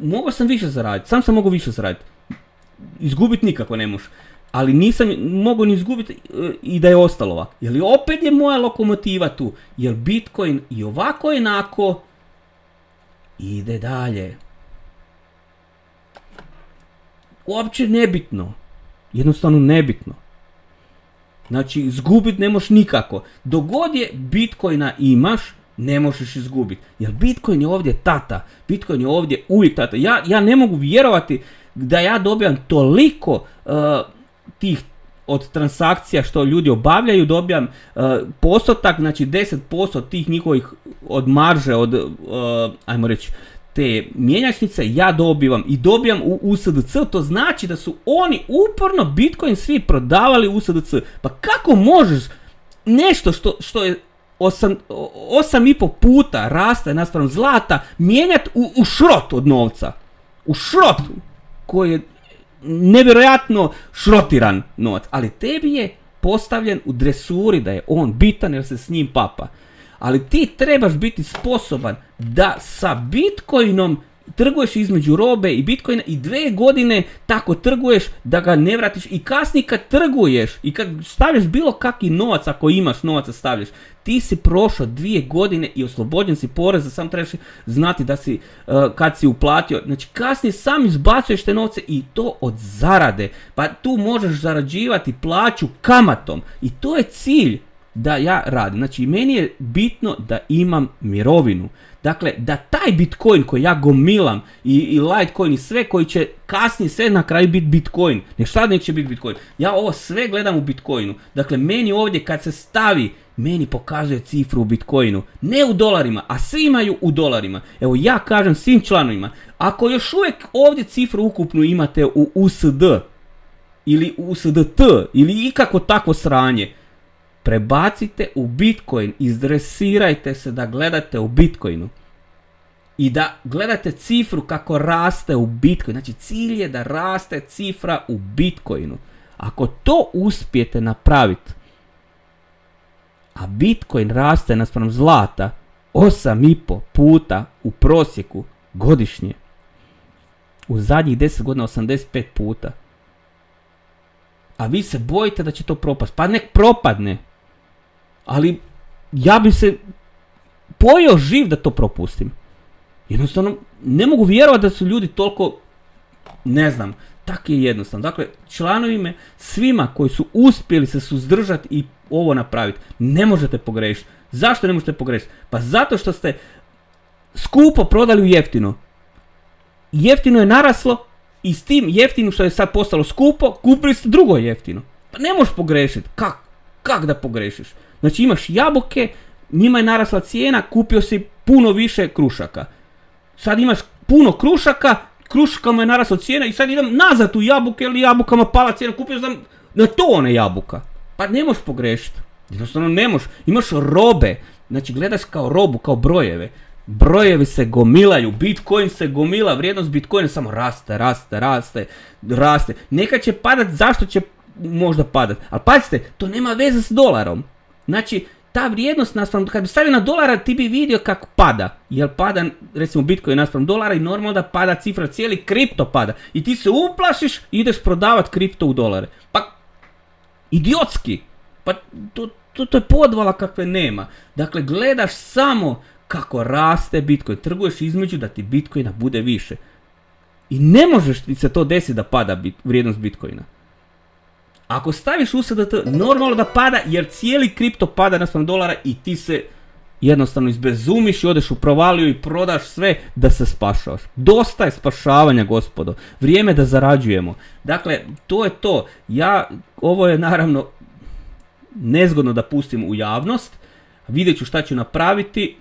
mogao sam više zaraditi, sam mogao više zaraditi, izgubiti nikako ne možeš, ali nisam mogao ni izgubiti i da je ostalo ovako, jer opet je moja lokomotiva tu, jer Bitcoin i ovako jednako ide dalje. Uopće nebitno, jednostavno nebitno. Znači, izgubiti ne možeš nikako. Dok god je Bitcoina imaš, ne možeš izgubiti. Jer Bitcoin je ovdje tata. Bitcoin je ovdje uvijek tata. Ja ne mogu vjerovati da ja dobijam toliko tih od transakcija što ljudi obavljaju, dobijam postotak, znači 10% tih njihovih od marže, od, ajmo reći, te mjenjačnice ja dobijam u USDC, to znači da su oni uporno Bitcoin svi prodavali u USDC. Pa kako možeš nešto što je 8,5 puta raste naspram zlata mijenjati u šrot od novca? U šrot koji je nevjerojatno šrotiran novac, ali tebi je postavljen u dresuri da je on bitan jer se s njim papa. Ali ti trebaš biti sposoban da sa Bitcoinom trguješ između robe i Bitcoina i 2 godine tako trguješ da ga ne vratiš i kasnije kad trguješ i kad stavljaš bilo kakvi novac, ako imaš novaca stavljaš, ti si prošao 2 godine i oslobođen si poreza, sam trebaš znati da si kad si uplatio, znači kasnije sam izbacuješ te novce i to od zarade, pa tu možeš zarađivati plaću kamatom i to je cilj da ja radim. Znači meni je bitno da imam mirovinu. Dakle, da taj Bitcoin koji ja gomilam i Litecoin i sve koji će kasnije sve na kraju biti Bitcoin. Šta neće biti Bitcoin? Ja ovo sve gledam u Bitcoinu. Dakle, meni ovdje kad se stavi, meni pokazuje cifru u Bitcoinu. Ne u dolarima, a svi imaju u dolarima. Evo ja kažem svim članovima, ako još uvijek ovdje cifru ukupnu imate u USD ili USDT ili ikako takvo sranje, prebacite u Bitcoin, izdresirajte se da gledate u Bitcoinu i da gledate cifru kako raste u Bitcoinu. Znači cilj je da raste cifra u Bitcoinu. Ako to uspijete napraviti, a Bitcoin raste naspram zlata 8,5 puta u prosjeku godišnje, u zadnjih 10 godina 85 puta, a vi se bojite da će to propast, pa nek propadne. Ali ja bi se pojeo živ da to propustim. Jednostavno ne mogu vjerovati da su ljudi toliko, ne znam, tako je jednostavno. Dakle, članovima, svima koji su uspjeli se suzdržati i ovo napraviti, ne možete pogrešiti. Zašto ne možete pogrešiti? Pa zato što ste skupo prodali u jeftino. Jeftino je naraslo i s tim jeftinim što je sad postalo skupo, kupili ste drugo jeftino. Pa ne možeš pogrešiti. Kak da pogrešiš? Znači imaš jabuke, njima je narasla cijena, kupio si puno više krušaka. Sad imaš puno krušaka, kruškama je narasla cijena i sad idem nazad u jabuke, ili jabukama pala cijena, kupio sam na tone jabuka. Pa ne možeš pogrešiti. Jednostavno ne možeš. Imaš robe, znači gledaš kao robu, kao brojeve. Brojevi se gomilaju, Bitcoin se gomila, vrijednost Bitcoina samo raste. Nekad će padat, zašto će možda padat? Ali pazite, to nema veze s dolarom. Znači, ta vrijednost naspram, kad bi stavio na dolara, ti bi vidio kako pada. Jer pada, recimo Bitcoin naspram dolara i normalno da pada cifra, cijeli kripto pada. I ti se uplašiš i ideš prodavat kripto u dolare. Pa, idiotski. Pa, to je podvala kakve nema. Dakle, gledaš samo kako raste Bitcoin. Trguješ između da ti Bitcoina bude više. I ne možeš ti se to desiti da pada vrijednost Bitcoina. Ako staviš USDT, normalno da pada jer cijeli kripto pada naspram dolara i ti se jednostavno izbezumiš i odeš u provaliju i prodaš sve da se spašavaš. Dosta je spašavanja, gospodo. Vrijeme da zarađujemo. Dakle, to je to. Ovo je naravno nezgodno da pustim u javnost. Vidjet ću šta ću napraviti.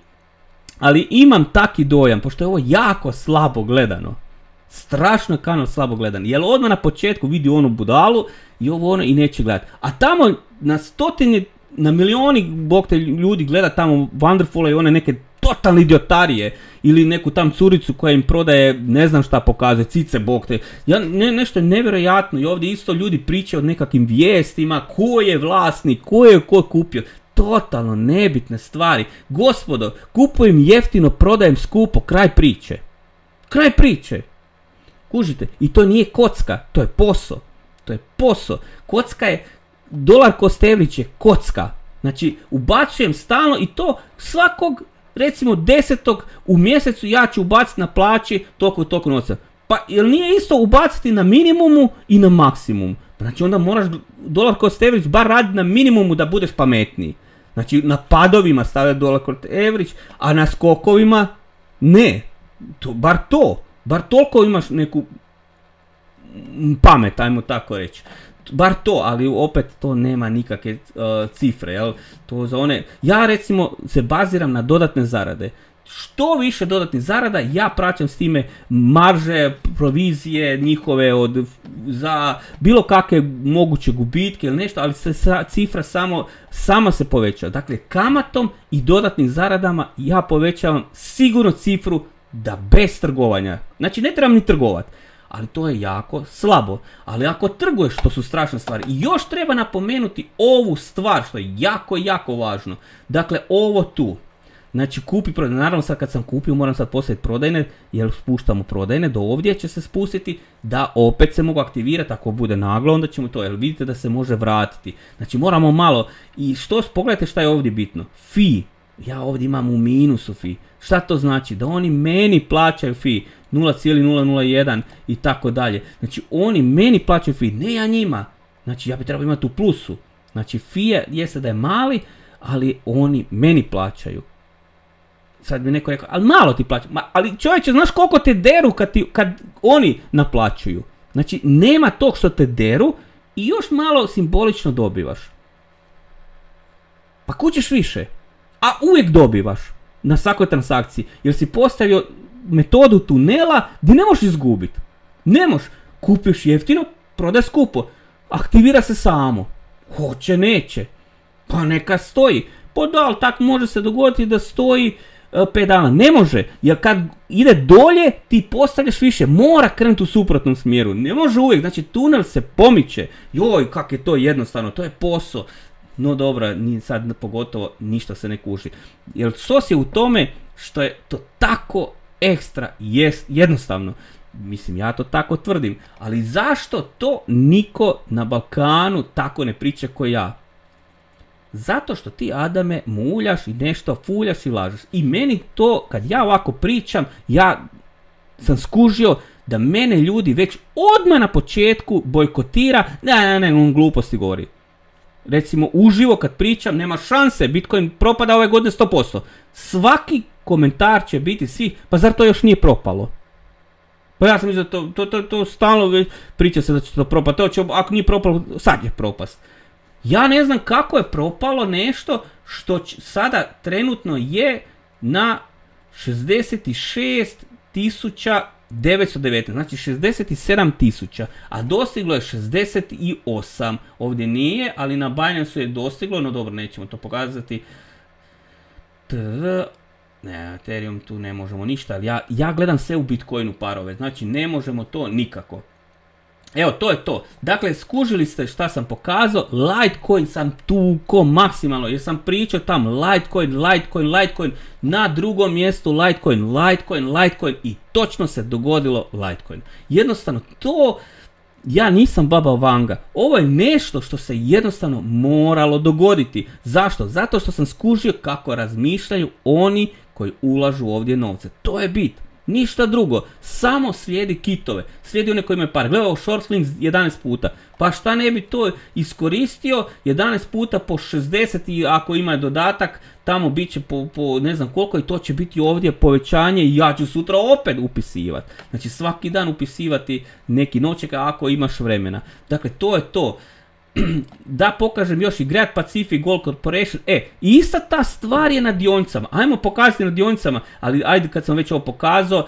Ali imam taki dojam, pošto je ovo jako slabo gledano. Strašno je kanal slabo gledan. Jer odmah na početku vidi onu budalu i ovo ono i neće gledati. A tamo na stotine, na milioni bog te ljudi gleda tamo Wonderful i one neke totalne idiotarije. Ili neku tam curicu koja im prodaje, ne znam šta pokazuje, cice bog te. Nešto je nevjerojatno i ovdje isto ljudi pričaju o nekakvim vijestima, ko je vlasnik, ko kupio. Totalno nebitne stvari. Gospodo, kupujem jeftino, prodajem skupo, kraj priče. Kraj priče. Kužite, i to nije kocka, to je posao. To je posao. Kocka je, dolar cost average je kocka. Znači, ubacujem stalno i to svakog, recimo 10. u mjesecu ja ću ubaciti na plaći toliko novca. Pa, jel nije isto ubaciti na minimumu i na maksimumu? Znači, onda moraš dolar cost average bar raditi na minimumu da budeš pametniji. Znači, na padovima stavljati dolar cost average, a na skokovima ne. Bar toliko imaš neku pamet, ajmo tako reći. Bar to, ali opet to nema nikakve cifre, jel? To za one. Ja recimo se baziram na dodatne zarade. Što više dodatnih zarada, ja praćam s time marže, provizije njihove za bilo kakve moguće gubitke ili nešto, ali se cifra sama se poveća. Dakle, kamatom i dodatnim zaradama ja povećavam sigurno cifru da bez trgovanja. Znači, ne trebam ni trgovati. Ali to je jako slabo. Ali ako trguješ, to su strašne stvari. I još treba napomenuti ovu stvar, što je jako, jako važno. Dakle, ovo tu. Znači, kupi prodajne. Naravno, sad kad sam kupio, moram sad postaviti prodajne, jer spuštamo prodajne. Do ovdje će se spustiti, da opet se mogu aktivirati. Ako bude naglo, onda ćemo to, jer vidite da se može vratiti. Znači, moramo malo. I pogledajte šta je ovdje bitno. Fee. Ja ovdje imam u minusu fee. Šta to znači? Da oni meni plaćaju fee 0,001 i tako dalje. Znači oni meni plaćaju fee, ne ja njima. Znači ja bi trebao imati u plusu. Znači fee jeste da je mali, ali oni meni plaćaju. Sad bi neko rekao, ali malo ti plaćaju. Ali čovječe, znaš koliko te deru kad oni naplaćuju? Znači nema tog što te deru i još malo simbolično dobivaš. Pa kućeš više. A uvijek dobivaš na svakoj transakciji, jer si postavio metodu tunela gdje ne možeš izgubiti. Ne možeš. Kupiš jeftino, prodaj skupo. Aktivira se samo. Hoće, neće. Pa neka stoji. Pa da, ali tak može se dogoditi da stoji 5 dana. Ne može, jer kad ide dolje ti postavljaš više. Mora krenuti u suprotnom smjeru. Ne može uvijek. Znači tunel se pomiče. Joj, kak je to jednostavno. To je posao. No dobro, sad pogotovo ništa se ne kuži. Jer sos je u tome što je to tako ekstra jednostavno. Mislim, ja to tako tvrdim. Ali zašto to niko na Balkanu tako ne priča ko ja? Zato što ti, Adame, muljaš i nešto fuljaš i lažeš. I meni to, kad ja ovako pričam, ja sam skužio da mene ljudi već odmah na početku bojkotira. Ne, on gluposti govori. Recimo, uživo kad pričam, nema šanse, Bitcoin propada ove godine 100%. Svaki komentar će biti svi, pa zar to još nije propalo? Pa ja sam mislio, to stalno priča se da će to propati, ako nije propalo, sad je propast. Ja ne znam kako je propalo nešto što sada trenutno je na 66.919, znači 67.000, a dostiglo je 68. Ovdje nije, ali na Binance je dostiglo, no dobro, nećemo to pokazati. Ne, Ethereum tu ne možemo ništa, ali ja gledam sve u Bitcoinu parove, znači ne možemo to nikako. Evo, to je to. Dakle, skužili ste šta sam pokazao. Litecoin sam tuko maksimalno, jer sam pričao tam Litecoin, na drugom mjestu Litecoin i točno se dogodilo Litecoin. Jednostavno, to ja nisam baba Vanga. Ovo je nešto što se jednostavno moralo dogoditi. Zašto? Zato što sam skužio kako razmišljaju oni koji ulažu ovdje novce. To je bit. Ništa drugo, samo slijedi kitove, slijedi one koji imaju par. Gledaj ovo short swings 11 puta, pa šta ne bi to iskoristio, 11 puta po 60 i ako ima dodatak, tamo bit će po ne znam koliko i to će biti ovdje povećanje i ja ću sutra opet upisivati. Znači svaki dan upisivati neki noćek ako imaš vremena. Dakle to je to. Da pokažem još i Great Pacific Gold Corporation, ista ta stvar je na dionicama, ajmo pokazati na dionicama, ali ajde kad sam već ovo pokazao,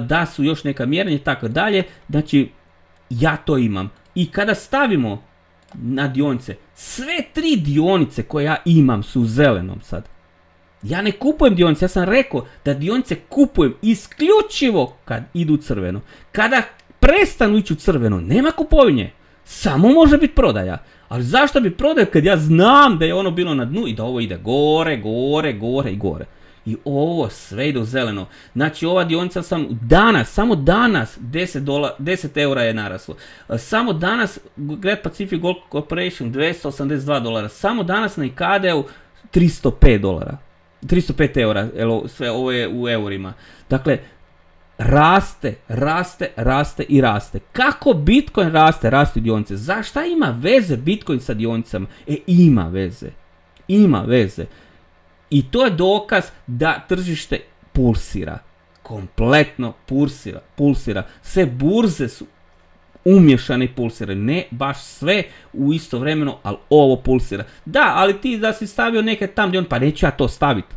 da su još neka mjerenja i tako dalje, znači ja to imam. I kada stavimo na dionice, sve 3 dionice koje ja imam su u zelenom sad. Ja ne kupujem dionice, ja sam rekao da dionice kupujem isključivo kad idu u crveno. Kada prestanu ići u crveno, nema kupovine. Samo može biti prodaja. Ali zašto bi prodao kad ja znam da je ono bilo na dnu i da ovo ide gore, gore, gore i gore. I ovo sve ide u zeleno. Znači ova dionica sam danas, samo danas 10 eura je naraslo. Samo danas Great Pacific Gold Corporation $282. Samo danas na ICADE-u $305. 305 eura, sve ovo je u eurima. Dakle, raste, raste, raste i raste. Kako Bitcoin raste, rastu dionice. Zašto ima veze Bitcoin sa dionicama? Ima veze. Ima veze. I to je dokaz da tržište pulsira. Kompletno pulsira. Sve burze su umješane i pulsiraju. Ne baš sve u istovremeno, ali ovo pulsira. Da, ali ti da si stavio neke tam dionice, pa neću ja to staviti.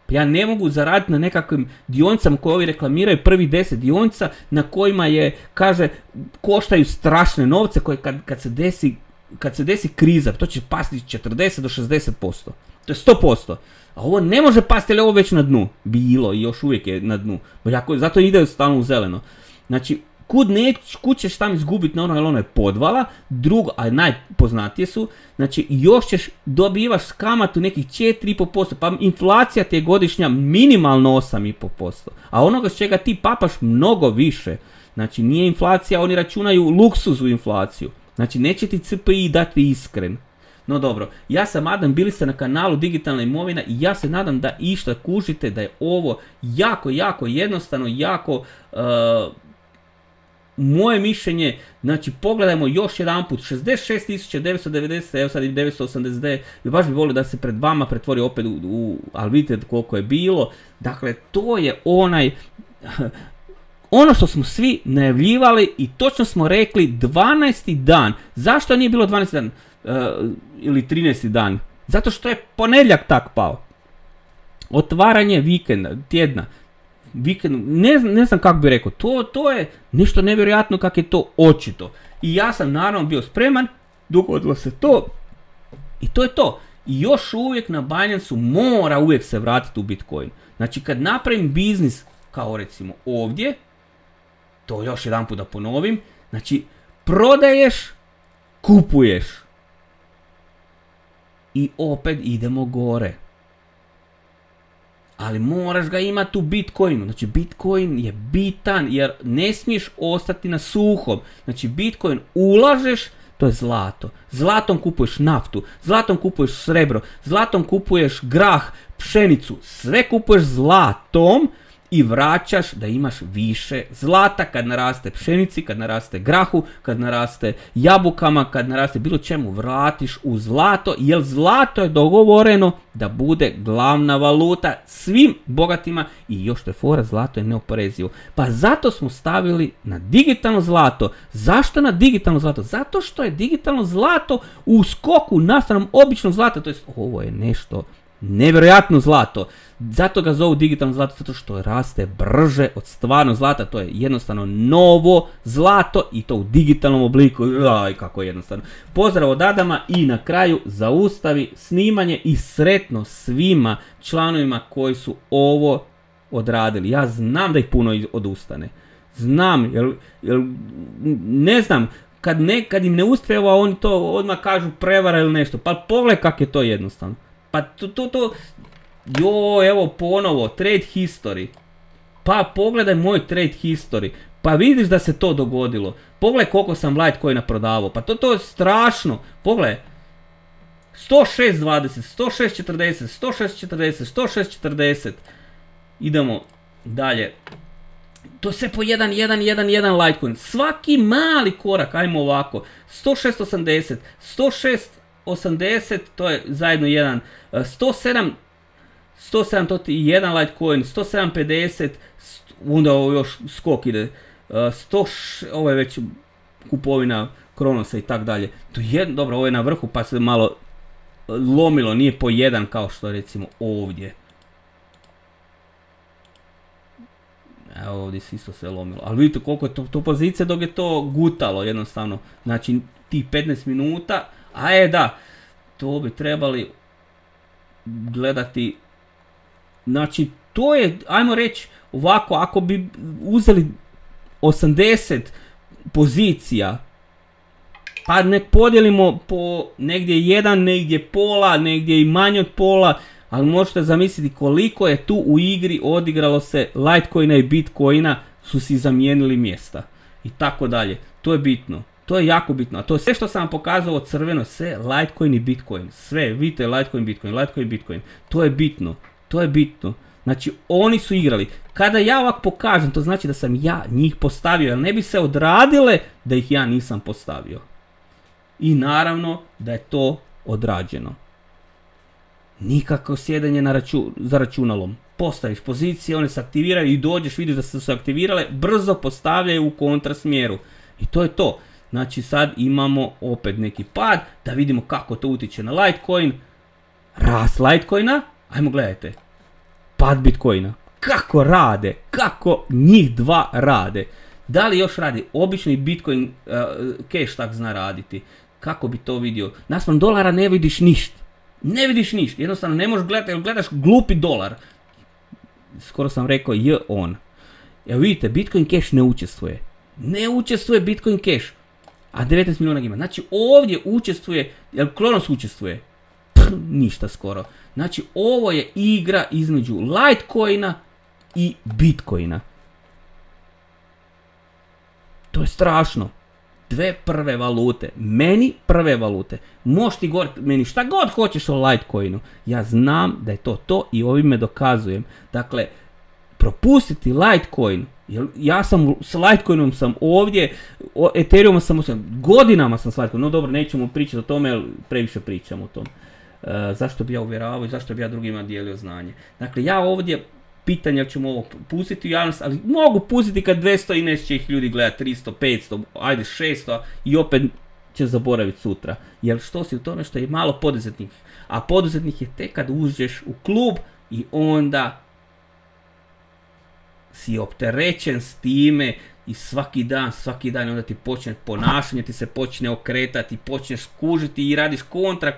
Ja ne mogu zaraditi na nekakvim dionicama koje ovi reklamiraju, prvi 10 dionica na kojima je, kaže, koštaju strašne novce koje kad se desi kriza, to će pasti 40 do 60%. To je 100%. A ovo ne može pasti, jer je ovo već na dnu. Bilo i još uvijek je na dnu. Zato ide stalno u zeleno. Znači, kud ćeš tam izgubiti na ono, jer ono je podvala, drugo, a najpoznatije su, znači još ćeš dobivaš kamatu nekih 4,5%, pa inflacija ti je godišnja minimalno 8,5%, a onoga s čega ti papaš mnogo više. Znači nije inflacija, oni računaju luksuzu inflaciju, znači neće ti CPI dati iskren. No dobro, ja sam Adam, bili ste na kanalu Digitalna imovina i ja se nadam da išta kužite, da je ovo jako, jako jednostavno, jako... moje mišljenje, znači pogledajmo još jedan put, 66.990, evo sad i 989, i baš bi volio da se pred vama pretvori opet ali vidite koliko je bilo, dakle to je ono što smo svi najavljivali i točno smo rekli 12. dan, zašto nije bilo 12. dan ili 13. dan, zato što je ponedjeljak tak pao, otvaranje vikenda, tjedna, vikend, ne znam kako bi rekao, to je nešto nevjerojatno kako je to očito. I ja sam naravno bio spreman, dogodilo se to i to je to. I još uvijek na Binance-u mora uvijek se vratiti u Bitcoin. Znači kad napravim biznis kao recimo ovdje, to još jedan put da ponovim, znači prodaješ, kupuješ i opet idemo gore. Ali moraš ga imati u Bitcoinu. Znači Bitcoin je bitan jer ne smiješ ostati na suhom. Znači Bitcoin ulažeš, to je zlato. Zlatom kupuješ naftu, zlatom kupuješ srebro, zlatom kupuješ grah, pšenicu. Sve kupuješ zlatom i vraćaš da imaš više zlata kad naraste pšenici, kad naraste grahu, kad naraste jabukama, kad naraste bilo čemu, vratiš u zlato, jer zlato je dogovoreno da bude glavna valuta svim bogatima i još to je fora, zlato je neoporezivo. Pa zato smo stavili na digitalno zlato. Zašto na digitalno zlato? Zato što je digitalno zlato u skoku nastavnom običnog zlata, to jest ovo je nešto nevjerojatno zlato. Zato ga zovu digitalno zlato, zato što raste brže od stvarno zlata. To je jednostavno novo zlato i to u digitalnom obliku. Aj, kako je jednostavno. Pozdrav od Adama i na kraju zaustavi snimanje i sretno svima članovima koji su ovo odradili. Ja znam da ih puno odustane. Znam, jer ne znam, kad im ne uspjeva oni to odmah kažu prevara ili nešto. Pa pogledaj kako je to jednostavno. Pa evo ponovo, trade history. Pa pogledaj moj trade history. Pa vidiš da se to dogodilo. Pogledaj koliko sam Litecoina prodavao. Pa to je strašno. Pogledaj. 106.20, 106.40, 106.40, 106.40. Idemo dalje. To je sve po 1 Litecoin. Svaki mali korak, ajmo ovako, 106.80, 106.80, to je zajedno jedan, 107, to je jedan Litecoin, 107.50, onda ovo još skok ide, ovo je već kupovina Kronosa i tak dalje. Dobro, ovo je na vrhu pa se malo lomilo, nije po 1 kao što recimo ovdje. Evo ovdje se isto sve lomilo, ali vidite koliko je to pozicija dok je to gutalo jednostavno, znači tih 15 minuta, da, to bi trebali gledati, znači to je, ajmo reći ovako, ako bi uzeli 80 pozicija, pa nek podijelimo po negdje 1, negdje pola, negdje i manje od pola, ali možete zamisliti koliko je tu u igri odigralo se Litecoina i Bitcoina, su si zamijenili mjesta i tako dalje. To je bitno, to je jako bitno, a to je sve što sam vam pokazao crveno, sve Litecoin i Bitcoin, sve, vidite Litecoin, Bitcoin, to je bitno, to je bitno. Znači oni su igrali, kada ja ovako pokažem, to znači da sam ja njih postavio, jer ne bi se odradile da ih ja nisam postavio. I naravno da je to odrađeno. Nikako sjedanje za računalom. Postaviš pozicije, one se aktiviraju i dođeš, vidiš da su se aktivirale, brzo postavljaju u kontrasmjeru. I to je to. Znači sad imamo opet neki pad, da vidimo kako to utječe na Litecoin. Rast Litecoina, ajmo gledajte. Pad Bitcoina. Kako rade, kako njih dva rade. Da li još radi? Obični Bitcoin cash tak zna raditi. Kako bi to vidio? Naspram dolara ne vidiš ništa. Ne vidiš ništa, jednostavno ne možeš gledati, jer gledaš glupi dolar. Skoro sam rekao on. Evo vidite, Bitcoin Cash ne učestvuje. Ne učestvuje Bitcoin Cash. A 19 milijuna ima. Znači ovdje učestvuje, jer Kronos učestvuje. Ništa skoro. Znači ovo je igra između Litecoina i Bitcoina. To je strašno. Dve prve valute, meni prve valute, možeš ti govoriti meni šta god hoćeš o Litecoinu, ja znam da je to i ovime dokazujem. Dakle, propustiti Litecoin, jer ja sam s Litecoinom sam ovdje, Ethereum sam godinama sam s Litecoinom, no dobro, nećemo pričati o tome, jer previše pričam o tom. Zašto bi ja uvjeravao i zašto bi ja drugima dijelio znanje. Dakle, ja ovdje pitanja ćemo ovo pustiti u javnost, ali mogu pustiti kad 200 i nešto će ih ljudi gledati, 300, 500, ajde 600 i opet će zaboraviti sutra. Jer što si u tome što je malo poduzetnik, a poduzetnik je tek kad uđeš u klub i onda si opterećen s time i svaki dan onda ti počne ponašanje, ti se počne okretati, počneš kužiti i radiš kontra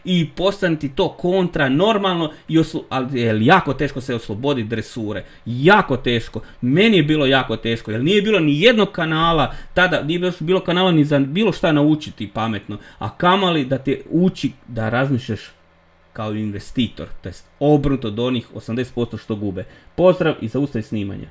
i postane ti to kontra normalno, ali je jako teško se osloboditi dresure, jako teško, meni je bilo jako teško, jer nije bilo ni jednog kanala, tada nije bilo kanala ni za bilo šta naučiti pametno, a kamali da te uči da razmišljaš kao investitor, to jest obrnuto od onih 80% što gube. Pozdrav i zaustavi snimanje.